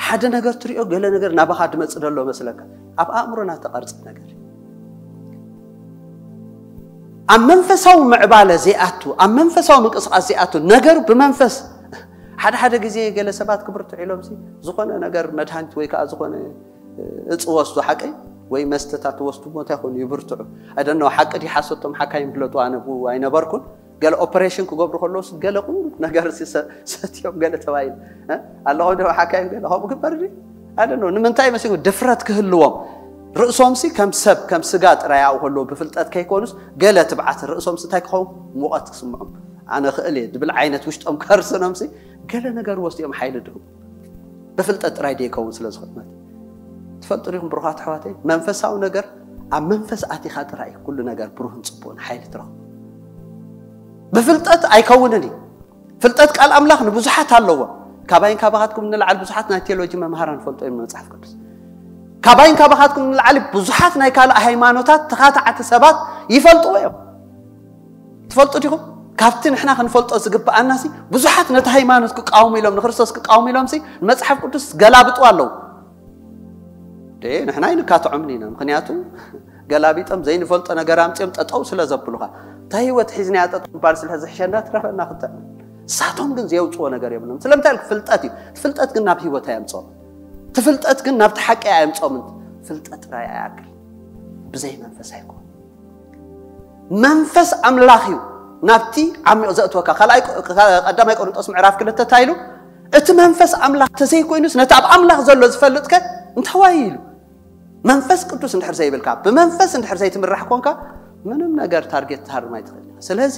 ሓደ ነገር ትሪኦ፣ ገለ ነገር ናባኻ ድመጽእ ደሎ መስለካ። ኣብ ኣእምሮና ተቐርጸ ነገር እዩ። ኣብ መንፈሳዊ ምዕባለ ዘይኣቱ፣ ኣብ መንፈሳዊ ምንቅስቓስ ዘይኣቱ፣ ነገሩ ብመንፈስ፣ ሓደ ሓደ ግዜ ገለ ሰባት ክብርትዑ ኢሎምሲ ዝኾነ ነገር መድሃኒት ወይ ከዓ ዝኾነ እፅ ወስዱ ሓቀይ ወይ መስተታት ወስዱ ቦታ ይኾኑ ይብርትዑ። ኣይደኖ ሓቂ ድዩ ሓሶቶም ሓካይም ፍለጡ፣ ኣነ ብኡ ኣይነበርኩን። ገለ ኦፐሬሽን ክገብሩ ከለውስ ገለ ቁሩብ ነገር ሲ ሰ- ሰትዮም ገለ ተባሂሉ እ? ኣለኹም ዶ ሓካይም ገለ ከምኡ ግበር ድዩ? ኣይደኖ ንምንታይ መሲሉ ድፍረት ክህልዎም ርእሶምሲ ከም ሰብ ከም ስጋ ጥራይ ኣብኡ ከለዉ ብፍልጠት ከይኮኑስ ገለ ትብዓት ርእሶምሲ እንታይ ክኸውን ሙቐት ክስምዖም ኣነ ክእል እየ ድብል ዓይነት ውሽጦም ከርስኖምሲ ገለ ነገር ወስድኦም ሓይሊ ድህቡ ብፍልጠት ጥራይ ደይከውን ስለ ዝኾነ ማለት እዩ። ትፈልጡ ዲኹም ብሩኻት ኣሕዋተይ መንፈሳዊ ነገር ኣብ መንፈስ ኣቲኻ ጥራይ እዩ ኩሉ ነገር ብሩህን ፅቡቕን ሓይሊ ትረኽቡ። ብፍልጠት ኣይከውንን እዩ። ፍልጠት ቃል ኣምላኽ ንብዙሓት ኣለዎ። ካባይን ካባኻትኩም ንላዕሊ ብዙሓት ናይ ቴዎሎጂ መምሃራን ፈልጦ እዮም መጽሓፍ ቅዱስ። ካባይን ካባኻትኩም ንላዕሊ ብዙሓት ናይ ካልእ ሃይማኖታት ተኻታዕቲ ሰባት ይፈልጥዎ እዮም። ትፈልጡ ዲኹም? ካብቲ ንሕና ክንፈልጦ ዝግብኣናሲ ብዙሓት ነቲ ሃይማኖት ክቃወሙ ኢሎም ንክርስቶስ ክቃወሙ ኢሎምሲ ንመጽሓፍ ቅዱስ ገላብጡ ኣለዉ። ደ ንሕና ኣይንካትዖምን ኢና። ምክንያቱ ገላቢጦም ዘይንፈልጦ ነገር ኣምፅኦም ጠጠው ስለ ዘብሉኻ እታ ህይወት ሒዝናያ ጠጠው ባል ስለ ዝሕሸና ትረፈና ክተ ንሳቶም ግን ዘየውፅዎ ነገር የብሎም። ስለምንታይ ኢልክ? ፍልጠት እዩ። ፍልጠት ግን ናብ ህይወት ኣየምፅኦም። እቲ ፍልጠት ግን ናብቲ ሓቂ ኣየምፅኦምን። ፍልጠት ጥራይ ኣያክል ብዘይ መንፈስ ኣይኮን። መንፈስ ኣምላኽ እዩ ናብቲ ዓሚቕ ዘእትወካ። ካልኣይ ቀዳማይ ቆሮንጦስ ምዕራፍ ክልተ እንታይ ኢሉ? እቲ መንፈስ ኣምላኽ ተዘይኮይኑስ ነቲ ኣብ ኣምላኽ ዘሎ ዝፈልጥከ እንተዋይ ኢሉ። መንፈስ ቅዱስ እንድሕር ዘይብልካ ብመንፈስ እንድሕር ዘይትምራሕ ኮንካ ምንም ነገር ታርጌት ትሃርም ኣይትኽእል። ስለዚ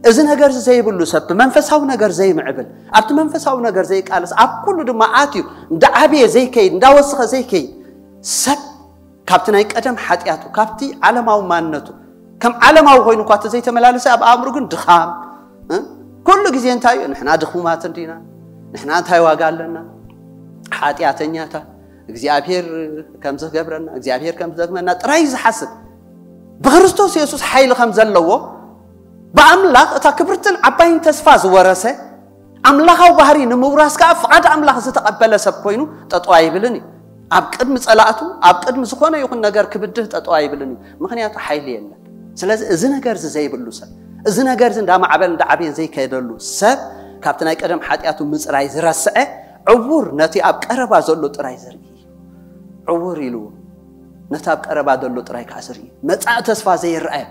እዚ ነገር እዚ ዘይብሉ ሰብ ብመንፈሳዊ ነገር ዘይምዕብል ኣብቲ መንፈሳዊ ነገር ዘይቃለስ ኣብ ኩሉ ድማ ኣትዩ እንዳዓበየ ዘይከይድ እንዳወስኸ ዘይከይድ ሰብ ካብቲ ናይ ቀደም ሓጢኣቱ ካብቲ ዓለማዊ ማንነቱ ከም ዓለማዊ ኮይኑ እኳ ተዘይተመላለሰ ኣብ ኣእምሩ ግን ድኻም እ? ኩሉ ግዜ እንታይ እዩ ንሕና ድኹማት እንዲና ንሕና እንታይ ዋጋ ኣለና ሓጢኣተኛታት እግዚኣብሔር ከም ዝገብረና እግዚኣብሔር ከም ዝደግመና ጥራይ ዝሓስብ ብክርስቶስ የሱስ ሓይሊ ከም ዘለዎ ብኣምላኽ እታ ክብርትን ዓባይን ተስፋ ዝወረሰ ኣምላኻዊ ባህሪ ንምውራስ ከዓ ፍቓድ ኣምላኽ ዝተቐበለ ሰብ ኮይኑ ጠጠው ኣይብልን እዩ። ኣብ ቅድሚ ጸላእቱ ኣብ ቅድሚ ዝኾነ ይኹን ነገር ክብድህ ጠጠው ኣይብልን እዩ። ምክንያቱ ሓይሊ የለን። ስለዚ እዚ ነገር እዚ ዘይብሉ ሰብ፣ እዚ ነገር እዚ እንዳማዕበል እንዳዓብየን ዘይከደሉ ሰብ፣ ካብቲ ናይ ቀደም ሓጢኣቱ ምፅራይ ዝረስዐ፣ ዕውር፣ ነቲ ኣብ ቀረባ ዘሎ ጥራይ ዝርኢ እዩ። ዕውር ኢልዎ፣ ነቲ ኣብ ቀረባ ዘሎ ጥራይ ከዓ ዝርኢ፣ መጻኢ ተስፋ ዘይረኣየ።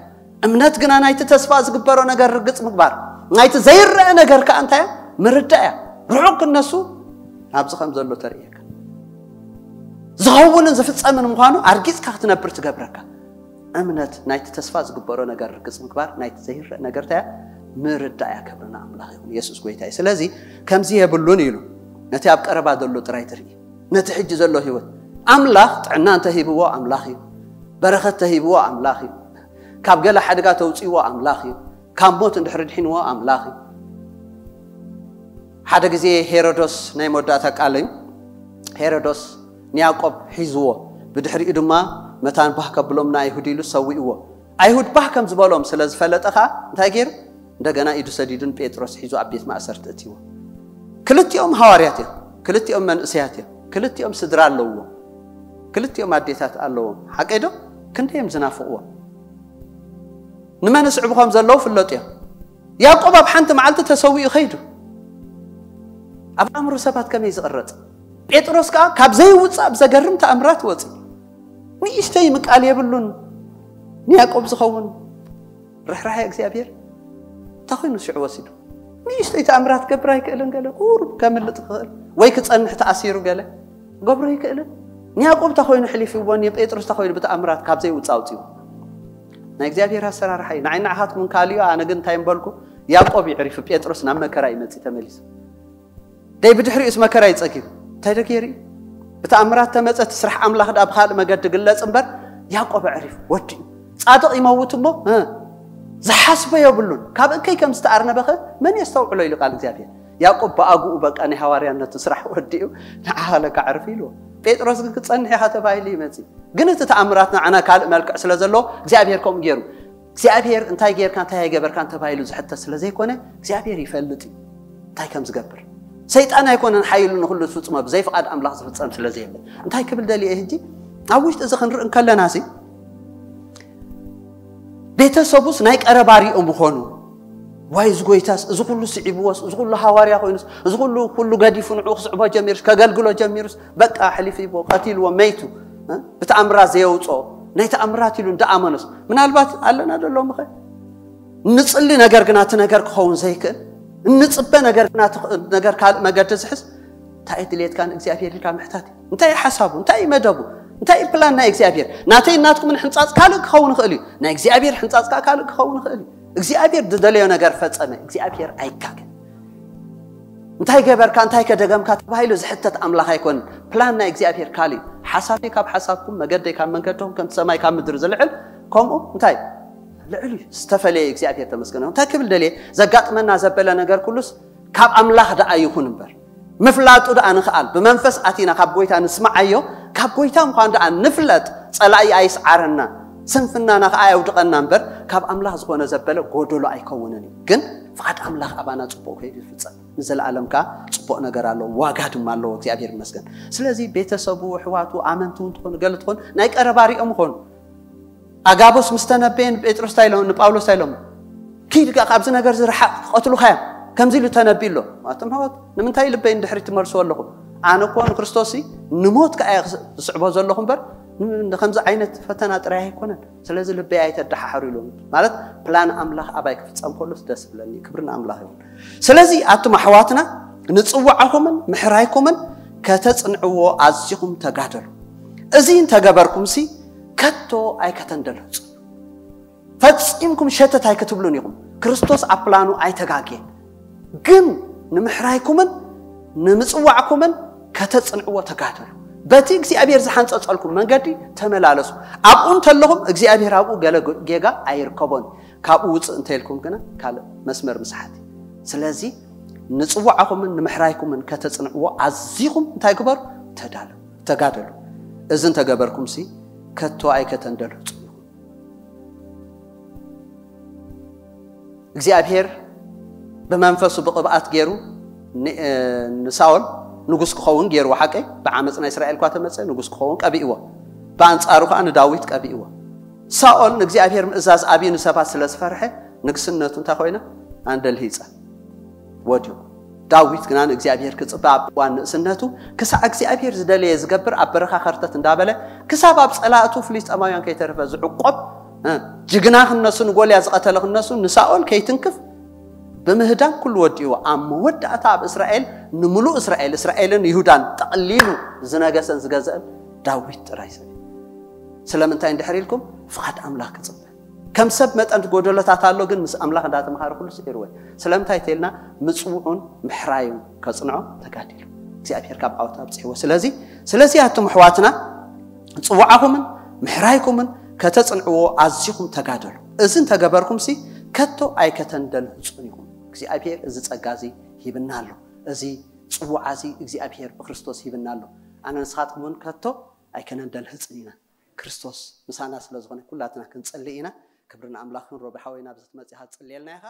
እምነት ግና ናይቲ ተስፋ ዝግበሮ ነገር ርግጽ ምግባር፣ ናይቲ ዘይረአ ነገር ከዓ እንታይ እያ? ምርዳእ እያ። ርሑቕ ክነሱ ኣብዚ ከም ዘሎ ተርእየካ፣ ዝኸውንን ዝፍጸምን ምዃኑ ኣርጊጽካ ክትነብር ትገብረካ። እምነት ናይቲ ተስፋ ዝግበሮ ነገር ርግጽ ምግባር፣ ናይቲ ዘይረአ ነገር እንታይ እያ? ምርዳእ እያ። ክብሪ ንኣምላኽ ይኹን። የሱስ ጎይታ እዩ። ስለዚ ከምዚ የብሉን ኢሉ፣ ነቲ ኣብ ቀረባ ዘሎ ጥራይ ትርኢ፣ ነቲ ሕጂ ዘሎ ህይወት። ኣምላኽ ጥዕና እንተሂብዎ ኣምላኽ እዩ። በረኸት ተሂብዎ ኣምላኽ እዩ። ካብ ገለ ሓደጋ ተውፅእዎ ኣምላኽ እዩ። ካብ ሞት እንድሕር ድሒንዎ ኣምላኽ እዩ። ሓደ ግዜ ሄሮዶስ፣ ናይ መወዳእታ ቃል እዩ፣ ሄሮዶስ ንያዕቆብ ሒዝዎ፣ ብድሕሪኡ ድማ መታን ባህ ከብሎም ንኣይሁድ ኢሉ ሰዊእዎ። ኣይሁድ ባህ ከም ዝበሎም ስለ ዝፈለጠ ኸዓ እንታይ ገይሩ? እንደገና ኢዱ ሰዲዱ ንጴጥሮስ ሒዙ ኣብ ቤት ማእሰርቲ እትይዎ። ክልቲኦም ሃዋርያት እዮም፣ ክልቲኦም መንእሰያት እዮም፣ ክልቲኦም ስድራ ኣለውዎም፣ ክልቲኦም ኣዴታት ኣለዎም። ሓቀይ ዶ? ክንደይ እዮም ዝናፍቕዎም። ንመን ስዕቡ ከም ዘለዉ ፍለጡ እዮም። ያዕቆብ ኣብ ሓንቲ መዓልቲ ተሰዊኡ ኸይዱ። ኣብ ኣእምሮ ሰባት ከመይ ዝቕረጽ? ጴጥሮስ ከኣ ካብ ዘይውጻእ ብዘገርም ተኣምራት ወጺ። ንእሽተይ ምቃል የብሉን። ንያዕቆብ ዝኸውን ርሕራሐ እግዚኣብሔር እንታይ ኮይኑ ሽዑ ወሲዱ? ንእሽተይ ተኣምራት ክገብር ኣይክእልን? ገለ ቁሩብ ከምልጥ ክኽእል ወይ ክጸንሕ ተኣሲሩ ገለ ክገብሮ ኣይክእልን? ንያዕቆብ እንታይ ኮይኑ ሕሊፍዎ? ንጴጥሮስ እንታይ ኮይኑ ብተኣምራት ካብ ዘይውጻእ ኣውጺዎ? ናይ እግዚኣብሔር ኣሰራርሓ እዩ። ንዓይ ንዓኻትኩም ካልዮ፣ ኣነ ግን እንታይ እምበልኩ? ያዕቆብ ይዕሪፉ፣ ጴጥሮስ ናብ መከራ ይመጽእ ተመሊሱ። ደይ ብድሕሪኡስ መከራ ይጸጊብ። እንታይ ዶ ገይሩ እዩ? ብተኣምራት ተመጸ፣ እቲ ስራሕ ኣምላኽ ደኣ ብኻልእ መገዲ ግለጽ እምበር፣ ያዕቆብ ኣዕሪፉ፣ ወዲኡ። ጻድቕ ይመውት እሞ፣ እ፣ ዝሓስቦ የብሉን። ካብ እከይ ከም ዝተኣርነበኸ መን የስተውዕሎ ኢሉ ቃል እግዚኣብሔር። ያዕቆብ ብኣግኡ በቃ ናይ ሃዋርያነቱ ስራሕ ወዲኡ፣ ንዓኻ ለካ ዕርፍ ኢልዎ። ጴጥሮስ ግን ክጸንሕ ኢኻ ተባሂሉ ይመጽእ። ግን እቲ ተኣምራት ንዓና ካልእ መልክዕ ስለ ዘለዎ፣ እግዚኣብሔር ከምኡ ገይሩ። እግዚኣብሔር እንታይ ጌርካ እንታይ ኣይገበርካን ተባሂሉ ዝሕተት ስለ ዘይኮነ እግዚኣብሔር ይፈልጥ እዩ እንታይ ከም ዝገብር። ሰይጣን ኣይኮነን ሓይሉ ንኹሉ ዝፍጽሞ ብዘይ ፍቓድ ኣምላኽ ዝፍጸም ስለ ዘየለ። እንታይ ክብል ደልየ ሕጂ ኣብ ውሽጢ እዚ ክንርኢ እንከለና ሲ ቤተሰቡስ ናይ ቀረባ ሪኦም ምኾኑ ዋይ እዚ ጎይታስ እዚ ኩሉ ስዒብዎስ እዚ ኩሉ ሃዋርያ ኮይኑስ እዚ ኩሉ ኩሉ ገዲፉ ንዕኡ ክስዕቦ ጀሚሩስ ከገልግሎ ጀሚሩስ በቃ ሕሊፍዎ ቀቲልዎ መይቱ ብተኣምራት ዘየውፅኦ ናይ ተኣምራት ኢሉ እንዳኣመኖስ ምናልባት ኣለና ደሎምኸ ንጽሊ ነገር ግና እቲ ነገር ክኸውን ዘይክእል እንጽበ ነገር ግና ነገር ካልእ መገዲ ዝሕዝ እንታይ ድሌትካ ንእግዚኣብሔር ኢልካ ምሕታት እዩ እንታይ ሓሳቡ እንታይ መደቡ እንታይ ፕላን ናይ እግዚኣብሔር ናተይ ናትኩም ሕንጻጽ ካልእ ክኸውን ይኽእል እዩ ናይ እግዚኣብሔር ሕንጻጽ ካልእ ክኸውን ይኽእል እዩ እግዚኣብሔር ዝደለዮ ነገር ፈጸመ እግዚኣብሔር ኣይጋገ እንታይ ገበርካ እንታይ ከደገምካ ተባሂሉ ዝሕተት ኣምላኽ ኣይኮንን ፕላን ናይ እግዚኣብሔር ካልእ እዩ ሓሳበይ ካብ ሓሳብኩም መገደይ ካብ መንገድኩም ከምቲ ሰማይ ካብ ምድሪ ዝልዕል ከምኡ እንታይ ልዕል እዩ ዝተፈለየ እግዚኣብሔር ተመስገነ እንታይ ክብል ደልየ ዘጋጥመና ዘበለ ነገር ኩሉስ ካብ ኣምላኽ ደኣ ይኹን እምበር ምፍላጡ ደኣ ንኽኣል ብመንፈስ ኣቲና ካብ ጎይታ ንስምዓዮ ካብ ጎይታ ምዃን ደኣ ንፍለጥ ጸላኢ ኣይስዓረና ስንፍናና ከኣ ኣየውድቐና እምበር ካብ ኣምላኽ ዝኾነ ዘበለ ጎደሎ ኣይከውንን እዩ ግን ፍቓድ ኣምላኽ ኣባና ጽቡቕ ከይዱ ይፍጸም ንዘለኣለም ከኣ ጽቡቕ ነገር ኣለዎ ዋጋ ድማ ኣለዎ እግዚኣብሔር ይመስገን ስለዚ ቤተሰቡ ኣሕዋቱ ኣመንቲ እውን ትኾኑ ገለ ትኾኑ ናይ ቀረባ ሪኦም ይኾኑ ኣጋቦስ ምስ ተነበየ ንጴጥሮስ እንታይ ኢሎም ንጳውሎስ እንታይ ኢሎም ኪድ ካብዚ ነገር ዝረሓቕ ክቐትሉኻ እዮም ከምዚ ኢሉ ተነቢ ኣሎ ኣቶም ኣሕዋት ንምንታይ ልበይ ንድሕሪት ትመልስዎ ኣለኹም ኣነ እኮ ንክርስቶስ ንሞት ከኣ ዝስዕቦ ዘለኹ እምበር ከምዚ ዓይነት ፈተና ጥራይ ኣይኮነን ስለዚ ልበይ ኣይተደሓሓሩ ኢሎም ማለት ፕላን ኣምላኽ ኣባይ ክፍጸም ከሎስ ደስ ብለኒ ክብሪ ንኣምላኽ ይኹን ስለዚ ኣቱም ኣሕዋትና ንጽዋዕኹምን ምሕራይኩምን ከተጽንዕዎ ኣዚኹም ተጋደሉ እዚ እንተገበርኩምሲ ከቶ ኣይከተንደልህጹ ፈጺምኩም ሸተት ኣይክትብሉን ኢኹም ክርስቶስ ኣብ ፕላኑ ኣይተጋግየን ግን ንምሕራይኩምን ንምጽዋዕኩምን ከተጽንዕዎ ተጋደሉ በቲ እግዚኣብሔር ዝሓንጸጸልኩም መንገዲ ተመላለሱ ኣብኡ እንተለኹም እግዚኣብሔር ኣብኡ ገለ ጌጋ ኣይርከቦን ካብኡ ውፅእ እንተይልኩም ግና ካልእ መስመር ምስሓት ስለዚ ንፅዋዕኹምን ንምሕራይኩምን ከተፅንዕዎ ኣዚኹም እንታይ ግበሩ ተዳለዉ ተጋደሉ እዚ እንተገበርኩም ሲ ከቶ ኣይከተንደልህፁ እግዚኣብሔር ብመንፈሱ ብቕብኣት ገይሩ ንሳኦል ንጉስ ክኸውን ገይርዎ ሓቀይ ብዓመፅ ናይ እስራኤል ኳ ተመፀ ንጉስ ክኸውን ቀቢእዎ ብኣንፃሩ ከዓ ንዳዊት ቀቢእዎ ሳኦል ንእግዚኣብሔር ምእዛዝ ኣብዩ ንሰባት ስለ ዝፈርሐ ንግስነቱ እንታይ ኮይና? ኣንደልሂፀ፣ ወዲቑ። ዳዊት ግና ንእግዚኣብሔር ክፅበ ኣብ እዋን ንእስነቱ ክሳዕ እግዚኣብሔር ዝደለየ ዝገብር ኣብ በረኻ ከርተት እንዳበለ ክሳብ ኣብ ፀላእቱ ፍልስጠማውያን ከይተረፈ ዝዕቆብ፣ እ፣ ጅግና ክነሱ፣ ንጎልያ ዝቐተለ ክነሱ፣ ንሳኦል ከይትንክፍ ብምህዳን ኩሉ ወዲእዎ። ኣብ መወዳእታ ኣብ እስራኤል፣ ንምሉእ እስራኤል፣ እስራኤልን ይሁዳን ጠቕሊሉ ዝነገሰን ዝገዘአን ዳዊት ጥራይ ሰብ። ስለምንታይ እንድሕር ኢልኩም? ፍቓድ ኣምላኽ ክጽበ። ከም ሰብ መጠን ጎደሎታት ኣሎ፣ ግን ምስ ኣምላኽ እንዳተምሃረ ኩሉ ስዒርዎ። ስለምንታይ ተልና? ምጽውዑን ምሕራዩን ከጽንዖ ተጋዲሉ እግዚኣብሔር ካብ ዓወት ኣብጽሕዎ። ስለዚ ስለዚ ኣቱም ኣሕዋትና ጽውዓኹምን ምሕራይኩምን ከተጽንዕዎ ኣዚኹም ተጋደሉ። እዚ እንተገበርኩምሲ ከቶ ኣይከተንደልህጹን ኢኹም። እግዚኣብሔር እዚ ጸጋ እዚ ሂብና ኣሎ። እዚ ጽውዓ እዚ እግዚኣብሔር ብክርስቶስ ሂብና ኣሎ። ኣነ ንስኻትኩም እውን ከቶ ኣይከነንደልህጽን ኢና። ክርስቶስ ምሳና ስለ ዝኾነ ኩላትና ክንጽሊ ኢና። ክብሪ ንኣምላኽን። ሮቢ ሓወይና፣ ኣብዚ ትመጽእ ኢኻ ትጽልየልና ኢኻ።